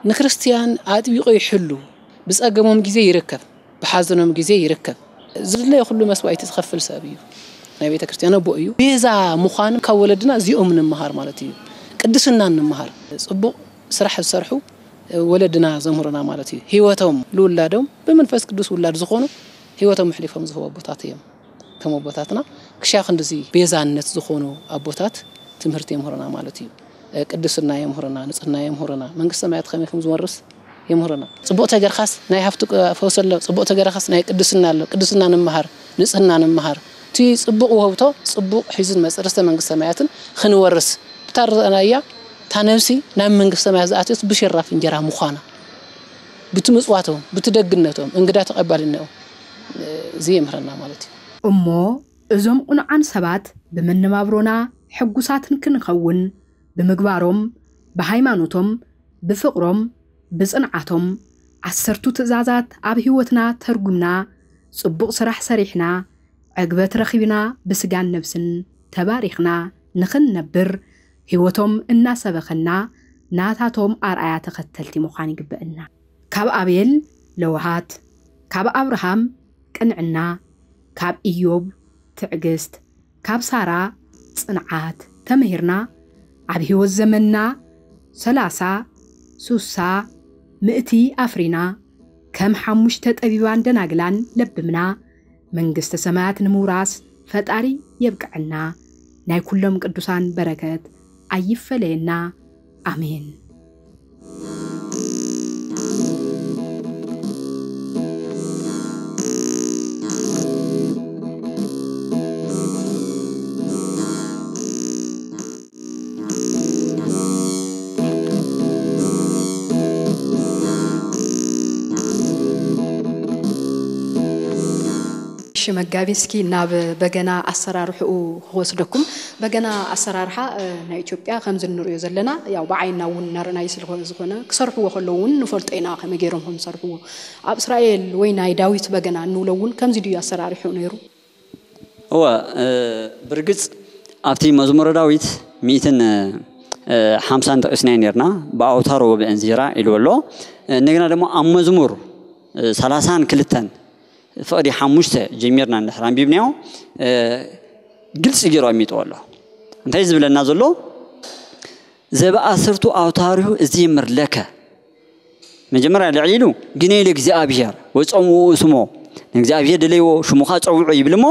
ንክርስትያን ኣጥቢቑ ይሕሉ፣ ብጸገሞም ግዜ ይርከብ፣ ብሓዘኖም ግዜ ይርከብ። ዝድለዮ ኩሉ መስዋእቲ ዝኸፍል ሰብ እዩ። ናይ ቤተ ክርስቲያን ኣቦ እዩ። ቤዛ ምዃን ካብ ወለድና እዚኦም ንምሃር ማለት እዩ። ቅድስና ንምሃር። ጽቡቕ ስራሕ ዝሰርሑ ወለድና ዘምህሩና ማለት እዩ። ህይወቶም ልውላዶም ብመንፈስ ቅዱስ ውላድ ዝኾኑ ህይወቶም ኣሕሊፎም ዝህቡ ኣቦታት እዮም። ከም ኣቦታትና ክሻ ክንድዚ ቤዛነት ዝኾኑ ኣቦታት ትምህርቲ የምህሩና ማለት እዩ። ቅድስና የምህሩና፣ ንጽህና የምህሩና፣ መንግስተ ሰማያት ከመይ ከም ዝወርስ የምህሩና። ጽቡቕ ተገርካስ ናይ ሃፍቲ ፈውሲ ኣሎ፣ ጽቡቕ ተገርካስ ናይ ቅድስና ኣሎ። ቅድስና ንምሃር፣ ንጽህና ንምሃር። እቲ ጽቡቕ ውህብቶ ጽቡቕ ሒዙ ንመጽእ ርስተ መንግስተ ሰማያትን ክንወርስ ብታ ርኣናያ እታ ነብሲ ናብ መንግስተ ሰማያት ዝኣትየት ብሽራፍ እንጀራ ምዃና፣ ብቲ ምጽዋቶም፣ ብቲ ደግነቶም፣ እንግዳ ተቐባልነኦም፣ እዚ የምህረና ማለት እዩ። እሞ እዞም ቁኑዓን ሰባት ብመነባብሮና ሕጉሳትን ክንኸውን ብምግባሮም፣ ብሃይማኖቶም፣ ብፍቕሮም፣ ብጽንዓቶም፣ ዓሰርቱ ትእዛዛት ኣብ ህይወትና ተርጉምና፣ ጽቡቕ ስራሕ ሰሪሕና፣ ዕግበት ረኺብና፣ ብስጋን ነብስን ተባሪኽና ንኽንነብር፣ ህይወቶም እናሰበኸና፣ ናታቶም ኣርኣያ ተኸተልቲ ምዃን ይግበእና። ካብ ኣቤል ለውሃት፣ ካብ ኣብርሃም ቅንዕና፣ ካብ ኢዮብ ትዕግስት፣ ካብ ሳራ ጽንዓት ተመሂርና፣ ኣብ ህይወት ዘመንና ሰላሳ፣ ሱሳ፣ ምእቲ ኣፍሪና፣ ከም ሓሙሽተ ጠቢባን ደናግላን ለብምና፣ መንግስተ ሰማያት ንምውራስ ፈጣሪ የብቅዐና። ናይ ኩሎም ቅዱሳን በረከት ኣይፈለየና። ኣሜን። እሺ መጋቢ፣ እስኪ ናብ በገና ኣሰራርሕኡ ክወስደኩም። በገና ኣሰራርሓ፣ እ፣ ናይ ኢትዮጵያ ከምዚ እንሪኦ ዘለና፣ ያው ብዓይንና እውን እናረኣናዮ ስለ ዝኾነ፣ ክሰርሕዎ ከለዉ እውን ንፈልጦ ኢና ከመይ ገይሮም ከም ዝሰርሕዎ። ኣብ እስራኤል ወይ ናይ ዳዊት በገና እንብሎ እውን ከምዚ ድዩ ኣሰራርሕኡ ነይሩ? እወ፣ እ፣ ብርግጽ ኣብቲ መዝሙረ ዳዊት ሚእትን፣ እ፣ ሓምሳን ጠቒስናዮ ነርና፣ ብኣውታር ወብእንዚራ ኢልዎ ኣሎ። እንደገና ደግሞ ኣብ መዝሙር፣ እ፣ ሰላሳን ክልተን ፍቕዲ ሓሙሽተ ጀሚርና እንድሕር ኣንቢብናዮ፣ እ፣ ግልጺ ገይሩ ኣሚጥዎ ኣሎ። እንታይ ዝብለና ዘሎ? "ዘበኣስርቱ ኣውታሪሁ እዜምር ለከ"፣ መጀመርያ ልዕሊ ኢሉ "ግነዩ ለእግዚኣብሔር ወጸውዑ ስሞ"፣ ንእግዚኣብሔር ደለይዎ፣ ሽሙኻ ጸውዑ ይብል እሞ፣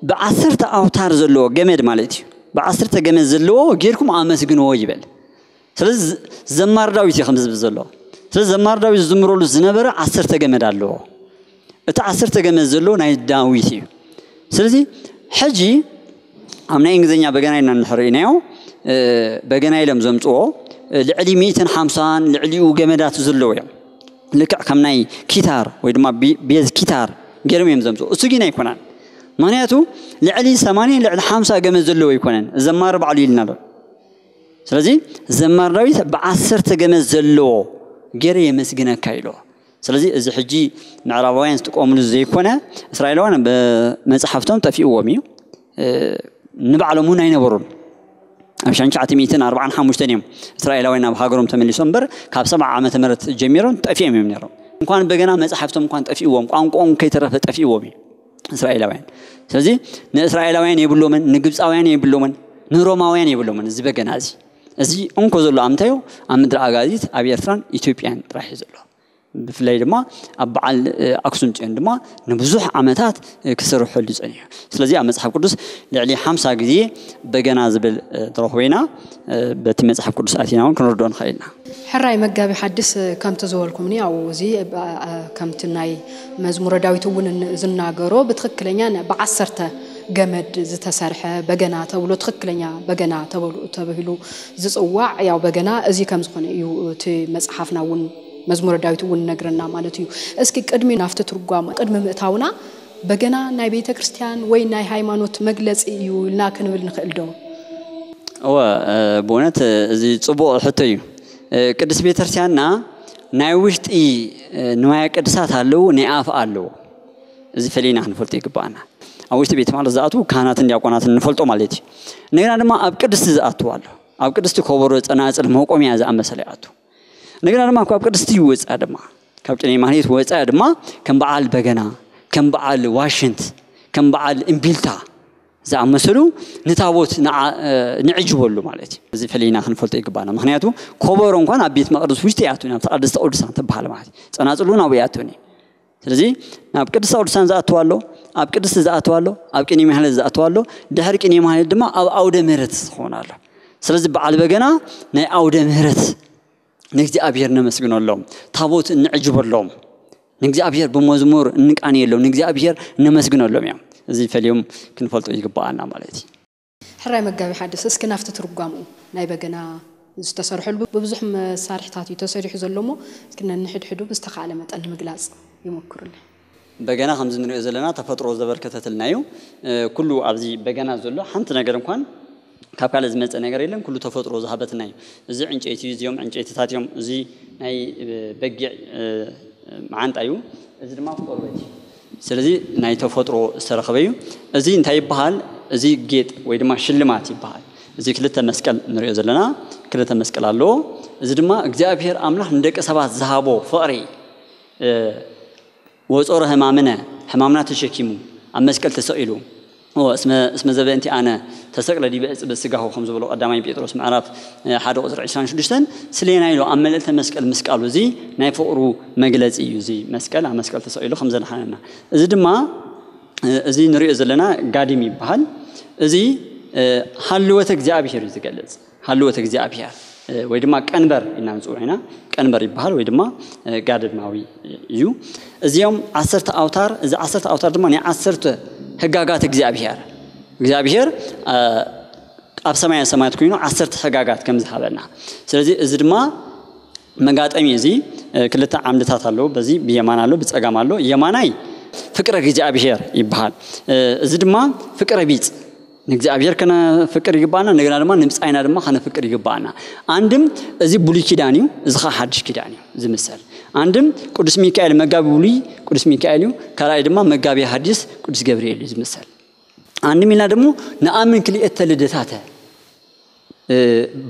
ብዓሰርተ ኣውታር ዘለዎ ገመድ ማለት እዩ። ብዓሰርተ ገመድ ዘለዎ ጌርኩም ኣመስግንዎ ይበል። ስለዚ ዘማሪ ዳዊት እዩ ከምዚ ዝብል ዘሎ። ስለዚ ዘማሪ ዳዊት ዝዝምረሉ ዝነበረ ዓሰርተ ገመድ ኣለዎ። እቲ ዓሰርተ ገመድ ዘለዎ ናይ ዳዊት እዩ። ስለዚ ሕጂ ኣብ ናይ እንግሊዝኛ በገና ኢልና እንድሕር ርኢናዮ፣ እ፣ በገና ኢሎም ዘምጽዎ፣ እ፣ ልዕሊ ሚእትን ሓምሳን ልዕሊኡ ገመዳት ዘለዎ እዮም። ልክዕ ከም ናይ ኪታር ወይ ድማ ቢ-፣ ቤዝ ኪታር ገይሮም እዮም ዘምጽዎ። እሱ ግን ኣይኮነን። ምኽንያቱ ልዕሊ ሰማንያ ልዕሊ ሓምሳ ገመድ ዘለዎ ኣይኮነን። ዘማሪ ባዕሉ ኢልና ኣሎ። ስለዚ ዘማሪ ዳዊት ብዓሰርተ ገመድ ዘለዎ ገይረ የመስግነካ ኢልዎ። ስለዚ እዚ ሕጂ ምዕራባውያን ዝጥቀምሉ ዘይኮነ፣ እስራኤላውያን ብመጽሓፍቶም ጠፊእዎም እዩ። እ፣ ንባዕሎም እውን ኣይነበሩን። ኣብ ሸንሸዓተ ሚእትን ኣርባዓን ሓሙሽተን እዮም እስራኤላውያን ናብ ሃገሮም ተመሊሶም እምበር፣ ካብ ሰብዓ ዓመተ ምህረት ጀሚሮም ጠፊኦም እዮም ነይሮም። እንኳን በገና መጽሓፍቶም እንኳን ጠፊእዎም፣ ቋንቋኦም ከይተረፈ ጠፊእዎም እዩ እስራኤላውያን። ስለዚ ንእስራኤላውያን የብሎምን፣ ንግብፃውያን የብሎምን፣ ንሮማውያን የብሎምን እዚ በገና እዚ። እዚ እንኮ ዘሎ ኣብ ምንታይ እዩ? ኣብ ምድሪ ኣጋዚት፣ ኣብ ኤርትራን ኢትዮጵያን ጥራሕ እዩ ዘሎ። ብፍላይ ድማ ኣብ በዓል ኣክሱም ፅዮን ድማ ንብዙሕ ዓመታት ክስርሐሉ ፀኒሑ። ስለዚ ኣብ መፅሓፍ ቅዱስ ልዕሊ ሓምሳ ግዜ በገና ዝብል ትረኽቦ ኢና። በቲ መፅሓፍ ቅዱስ ኣቲና እውን ክንርድኦ ንኽእል ኢና። ሕራይ መጋቢ ሓድስ፣ ከምቲ ዝበልኩምኒ ኣብኡ እዚ ከምቲ ናይ መዝሙረ ዳዊት እውን ዝናገሮ ብትኽክለኛ ብዓሰርተ ገመድ ዝተሰርሐ በገና ተብሎ ትኽክለኛ በገና ተብሂሉ ዝፅዋዕ ያው በገና እዚ ከም ዝኾነ እዩ እቲ መፅሓፍና እውን መዝሙረ ዳዊት እውን ነግረና ማለት እዩ። እስኪ ቅድሚ ናፍቲ ትርጓም ቅድሚ ምእታውና በገና ናይ ቤተ ክርስቲያን ወይ ናይ ሃይማኖት መግለፂ እዩ ኢልና ክንብል ንኽእል ዶ? እወ ብእውነት እዚ ፅቡቕ ሕቶ እዩ። ቅድስት ቤተክርስቲያንና ናይ ውሽጢ ንዋየ ቅድሳት ኣለዉ፣ ናይ ኣፍ ኣለዉ። እዚ ፈሊና ክንፈልጦ ይግባኣና። ኣብ ውሽጢ ቤት ማለት ዝኣትዉ ካህናትን ዲያቆናትን ንፈልጦ ማለት እዩ። እንደገና ድማ ኣብ ቅድስቲ ዝኣትዉ ኣሎ። ኣብ ቅድስቲ ከበሮ፣ ፀናፅል፣ መቆሚያ ዝኣመሰለ ይኣቱ። እንደገና ድማ ካብ ቅድስቲ ይወፅኣ ድማ ካብ ቅኔ ማህሌት ወፃኢ ድማ ከም በዓል በገና፣ ከም በዓል ዋሽንት፣ ከም በዓል እምቢልታ ዝኣመሰሉ ንታቦት ንዕጅበሉ ማለት እዩ። እዚ ፈሊና ክንፈልጦ ይግባና። ምክንያቱ ኮበሮ እንኳን ኣብ ቤት መቅደስ ውሽጢ ይኣቱን ኣብቲ ቅድስተ ቅዱሳን ትበሃል ማለት እዩ። ፀናፅሉ ናብኡ ይኣቱን እዩ። ስለዚ ናብ ቅድስተ ቅዱሳን ዝኣትዋ ኣሎ፣ ኣብ ቅድስቲ ዝኣትዋ ኣሎ፣ ኣብ ቅኔ ማህሌት ዝኣትዋ ኣሎ፣ ድሕሪ ቅኔ ማህሌት ድማ ኣብ ኣውደ ምህረት ዝኸውን ኣሎ። ስለዚ በዓል በገና ናይ ኣውደ ምህረት ንእግዚኣብሔር ነመስግነሎም፣ ታቦት እንዕጅበሎም፣ ንእግዚኣብሔር ብመዝሙር እንቃንየሎም፣ ንእግዚኣብሔር ነመስግነሎም እዮም። እዚ ፈልዮም ክንፈልጦ ይግባኣና ማለት እዩ። ሕራይ መጋቢ ሓድስ፣ እስኪ ናብቲ ትርጓምኡ ናይ በገና ዝተሰርሐሉ ብብዙሕ መሳርሕታት እዩ ተሰሪሑ ዘሎ እሞ እስኪ ነንሕድሕዱ ብዝተኻእለ መጠን ንምግላፅ ይመክሩልና። በገና ከምዚ ንሪኦ ዘለና ተፈጥሮ ዘበርከተትልና እዩ። ኩሉ ኣብዚ በገና ዘሎ ሓንቲ ነገር እንኳን ካብ ካልእ ዝመፀ ነገር የለን፣ ኩሉ ተፈጥሮ ዝሃበትና እዩ። እዚ ዕንጨይቲ እዩ፣ እዚኦም ዕንጨይትታት እዮም። እዚ ናይ በጊዕ መዓንጣ እዩ፣ እዚ ድማ ቆርበት እዩ። ስለዚ ናይ ተፈጥሮ ዝተረኸበ እዩ። እዚ እንታይ ይበሃል? እዚ ጌጥ ወይ ድማ ሽልማት ይበሃል። እዚ ክልተ መስቀል ንሪኦ ዘለና ክልተ መስቀል ኣለዎ። እዚ ድማ እግዚኣብሔር ኣምላኽ ንደቂ ሰባት ዝሃቦ ፍቕሪ ወጾረ ሕማምነ፣ ሕማምና ተሸኪሙ ኣብ መስቀል ተሰቒሉ። እስመ ዘበእንቲ ኣነ ተሰቅለ ዲበ እጽ በስጋሁ ከም ዝበሎ ቀዳማይ ጴጥሮስ ምዕራፍ ሓደ ቁፅሪ ዕስራን ሽዱሽተን ስሌና ኢሎ ኣብ መልእልተ መስቀል ምስቃሉ እዚ ናይ ፍቕሩ መግለፂ እዩ። እዚ መስቀል ኣብ መስቀል ተሰቒሉ ከም ዘድሓነና እዚ ድማ እዚ ንሪኦ ዘለና ጋዲም ይበሃል። እዚ ሃልወተ እግዚኣብሔር እዩ ዝገልፅ። ሃልወት እግዚኣብሔር ወይ ድማ ቀንበር ኢና ንፅውዕ ኢና። ቀንበር ይበሃል ወይ ድማ ጋደድማዊ እዩ። እዚኦም ዓሰርተ ኣውታር፣ እዚ ዓሰርተ ኣውታር ድማ ናይ ዓሰርተ ህጋጋት እግዚኣብሔር እግዚኣብሔር ኣብ ሰማያ ሰማያት ኮይኑ ዓሰርተ ህጋጋት ከም ዝሃበና። ስለዚ እዚ ድማ መጋጠሚ እዚ ክልተ ዓምድታት ኣለዎ። በዚ ብየማን ኣሎ፣ ብፀጋም ኣሎ። የማናይ ፍቅረ እግዚኣብሔር ይበሃል። እዚ ድማ ፍቅረ ቢፅ ንእግዚኣብሔር ከነፍቅር ይግባና። እንደገና ድማ ንብፃይና ድማ ከነፍቅር ይግባና። ኣንድም እዚ ብሉይ ኪዳን እዩ፣ እዚ ከዓ ሓድሽ ኪዳን እዩ ዝምሰል። ኣንድም ቅዱስ ሚካኤል መጋቢ ብሉይ ቅዱስ ሚካኤል እዩ፣ ካልኣይ ድማ መጋቢ ሓዲስ ቅዱስ ገብርኤል እዩ ዝምሰል። ኣንድም ኢልና ደግሞ ንኣምን ክልኤተ ልደታተ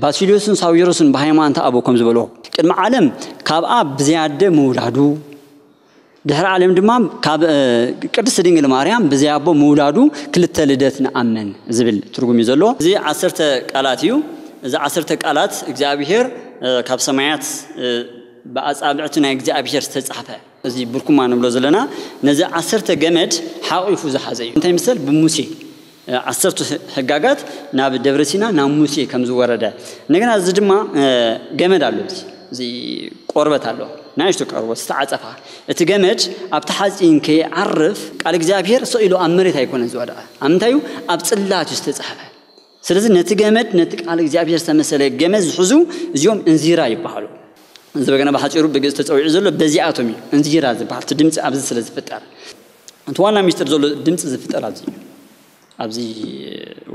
ባሲሊዮስን ሳዊሮስን ብሃይማኖት ኣቦ ከም ዝበሎ ቅድሚ ዓለም ካብ ኣብ ብዘያደ ምውላዱ ድሕሪ ዓለም ድማ ካብ ቅድስት ድንግል ማርያም ብዘያቦ ምውላዱ ክልተ ልደት ንኣምን ዝብል ትርጉም እዩ ዘለዎ። እዚ ዓሰርተ ቃላት እዩ። እዚ ዓሰርተ ቃላት እግዚኣብሔር ካብ ሰማያት ብኣጻብዕቲ ናይ እግዚኣብሔር ዝተጻሕፈ እዚ ብርኩማ ንብሎ ዘለና ነዚ ዓሰርተ ገመድ ሓቂፉ ዝሓዘ እዩ። እንታይ ምስል ብሙሴ ዓሰርቱ ሕጋጋት ናብ ደብረ ሲና ናብ ሙሴ ከም ዝወረደ እንደገና እዚ ድማ ገመድ ኣሎ። እዚ ቆርበት ኣሎ፣ ንእሽቶ ቆርበት ዝተዓፀፋ። እቲ ገመድ ኣብቲ ሓፂን ከይዓርፍ ቃል እግዚኣብሔር ሰኢሉ ኣብ መሬት ኣይኮነን ዝወደቐ። ኣብ ምንታይ እዩ? ኣብ ፅላት እዩ ዝተፃሕፈ። ስለዚ ነቲ ገመድ ነቲ ቃል እግዚኣብሔር ዝተመሰለ ገመድ ዝሕዙ እዚኦም እንዚራ ይበሃሉ። እዚ በገና ብሓፂሩ ብግእዝ ተፀዊዑ ዘሎ በዚኣቶም እዩ እንዚራ ዝበሃል። እቲ ድምፂ ኣብዚ ስለ ዝፍጠር እቲ ዋና ሚስጥር ዘሎ ድምፂ ዝፍጠር ኣብዚ እዩ። ኣብዚ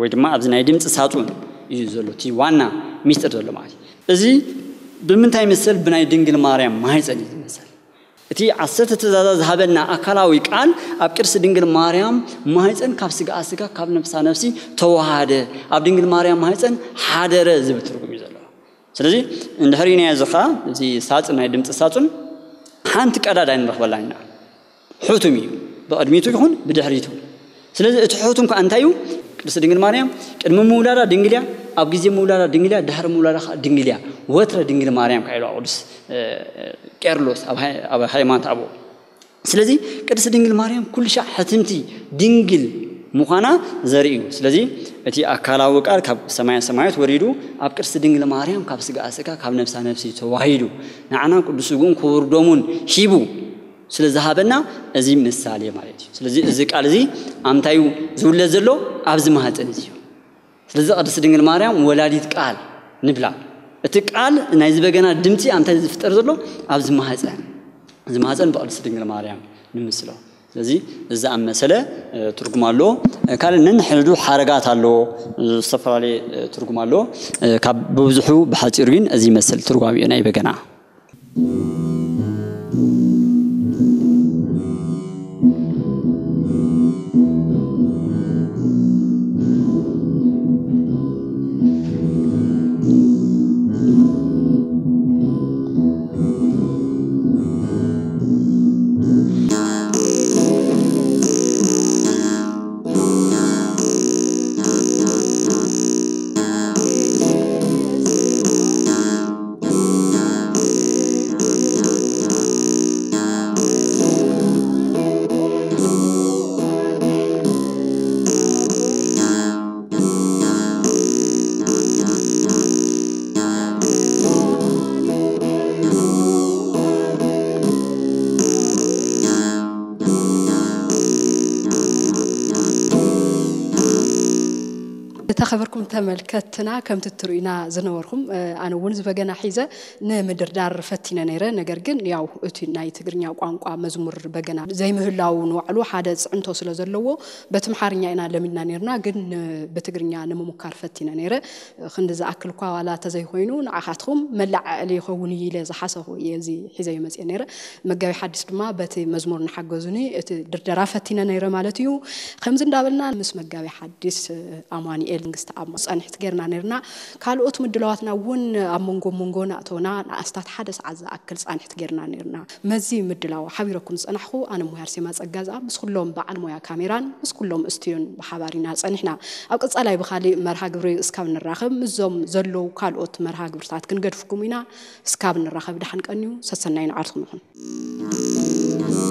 ወይ ድማ ኣብዚ ናይ ድምፂ ሳፁን እዩ ዘሎ እቲ ዋና ሚስጥር ዘሎ ማለት እዩ። እዚ ብምንታይ ይምሰል? ብናይ ድንግል ማርያም ማህፀን እዩ ዝመሰል። እቲ ዓሰርተ ትእዛዛት ዝሃበና ኣካላዊ ቃል ኣብ ቅድስቲ ድንግል ማርያም ማህፀን ካብ ስጋኣ ስጋ ካብ ነፍሳ ነፍሲ ተዋሃደ፣ ኣብ ድንግል ማርያም ማህፀን ሓደረ ዝብል ትርጉም እዩ ዘለዎ። ስለዚ እንድሕር ኢናዮ እዚ ኸዓ እዚ ሳፅን ናይ ድምፂ ሳፁን ሓንቲ ቀዳዳ ንረኽበላ ኢና። ሕቱም እዩ ብቕድሚቱ ይኹን ብድሕሪቱ። ስለዚ እቲ ሕቱም ከዓ እንታይ እዩ? ቅድስት ድንግል ማርያም ቅድሚ ምውላዳ ድንግል እያ፣ ኣብ ግዜ ምውላዳ ድንግል እያ፣ ድሕሪ ምውላዳ ከዓ ድንግል እያ። ወትረ ድንግል ማርያም ከዓ ኢሉ ቅዱስ እ፣ ቄርሎስ ኣብ ሃይ- ኣብ ሃይማኖት ኣበው። ስለዚ ቅድስት ድንግል ማርያም ኩሉ ሻዕ ሕትምቲ ድንግል ምዃና ዘርኢ እዩ። ስለዚ እቲ ኣካላዊ ቃል ካብ ሰማያ ሰማያት ወሪዱ ኣብ ቅድስት ድንግል ማርያም ካብ ስጋ ስጋ ካብ ነፍሳ ነፍሲ ተዋሂዱ ንዓና ቅዱስ ስግኡን ክቡር ደሙን ሂቡ ስለ ዝሃበና እዚ ምሳሌ ማለት እዩ። ስለዚ እዚ ቃል እዚ ኣምታዩ ዝውለድ ዘሎ ኣብዚ ማህፀን እዚ እዩ። ስለዚ ቅድስት ድንግል ማርያም ወላዲት ቃል ንብላ። እቲ ቃል ናይዚ በገና ድምፂ ኣምታይ ዝፍጠር ዘሎ ኣብዚ ማህፀን፣ እዚ ማህፀን ብቅድስት ድንግል ማርያም ንምስሎ። ስለዚ እዚ ኣብ መሰለ እ፣ ትርጉም ኣለዎ። እ፣ ካልእ ነንሕድዱ ሓረጋት ኣለዎ፣ እ፣ ዝተፈላለየ እ፣ ትርጉም ኣለዎ። እ፣ ካብ ብብዝሑ ብሓፂሩ ግን እዚ ይመስል ትርጓሜኡ ናይ በገና። ዝተኸበርኩም ተመልከትና፣ ከምቲ ትርእዩና ዝነበርኩም፣ እ፣ ኣነ እውን ዝበገና ሒዘ ንምድርዳር ፈቲነ ነይረ። ነገር ግን ያው እቲ ናይ ትግርኛ ቋንቋ መዝሙር በገና ዘይምህላው ንባዕሉ ሓደ ጽዕንቶ ስለ ዘለዎ በቲ ኣምሓርኛ ኢና ለሚድና ነይርና፣ ግን ን- ብትግርኛ ንምሙካር ፈቲነ ነይረ። ክንዲ ዝኣክል እኳ ዋላ ተዘይኮይኑ ንዓኻትኩም መለዓዕሊ ይኸውን እዩ ኢለ ዝሓሰኹ እየ እዚ ሒዘዮ መፅየ ነይረ። መጋቢ ሓዲስ ድማ በቲ መዝሙር እናሓገዙኒ እቲ ድርደራ ፈቲነ ነይረ ማለት እዩ። ከምዚ እንዳበልና ምስ መጋቢ ሓዲስ ኣማኑኤል መንግስቲ ኣብ ጸንሕቲ ጌርና ነይርና። ካልኦት ምድላዋትና እውን ኣብ መንጎ መንጎ ናእተውና ንኣስታት ሓደ ሰዓት ዝኣክል ጻንሕቲ ጌርና ነይርና። መዚ ምድላው ሓቢረኩም ዝጸናሕኩ ኣነ ሙያ ኣርሴማ ጸጋዝኣ ምስ ኩሎም በዓል ሞያ ካሜራን ምስ ኩሎም እስቱዮን ብሓባር ኢና ጸኒሕና። ኣብ ቀጻላይ ብኻሊእ መርሃ ግብሪ እስካብ ንራኸብ ምስዞም ዘለዉ ካልኦት መርሃ ግብርታት ክንገድፍኩም ኢና። እስካብ ንራኸብ ደሓን ቀንዩ። ሰሰናይ ንዓድኩም ይኹን።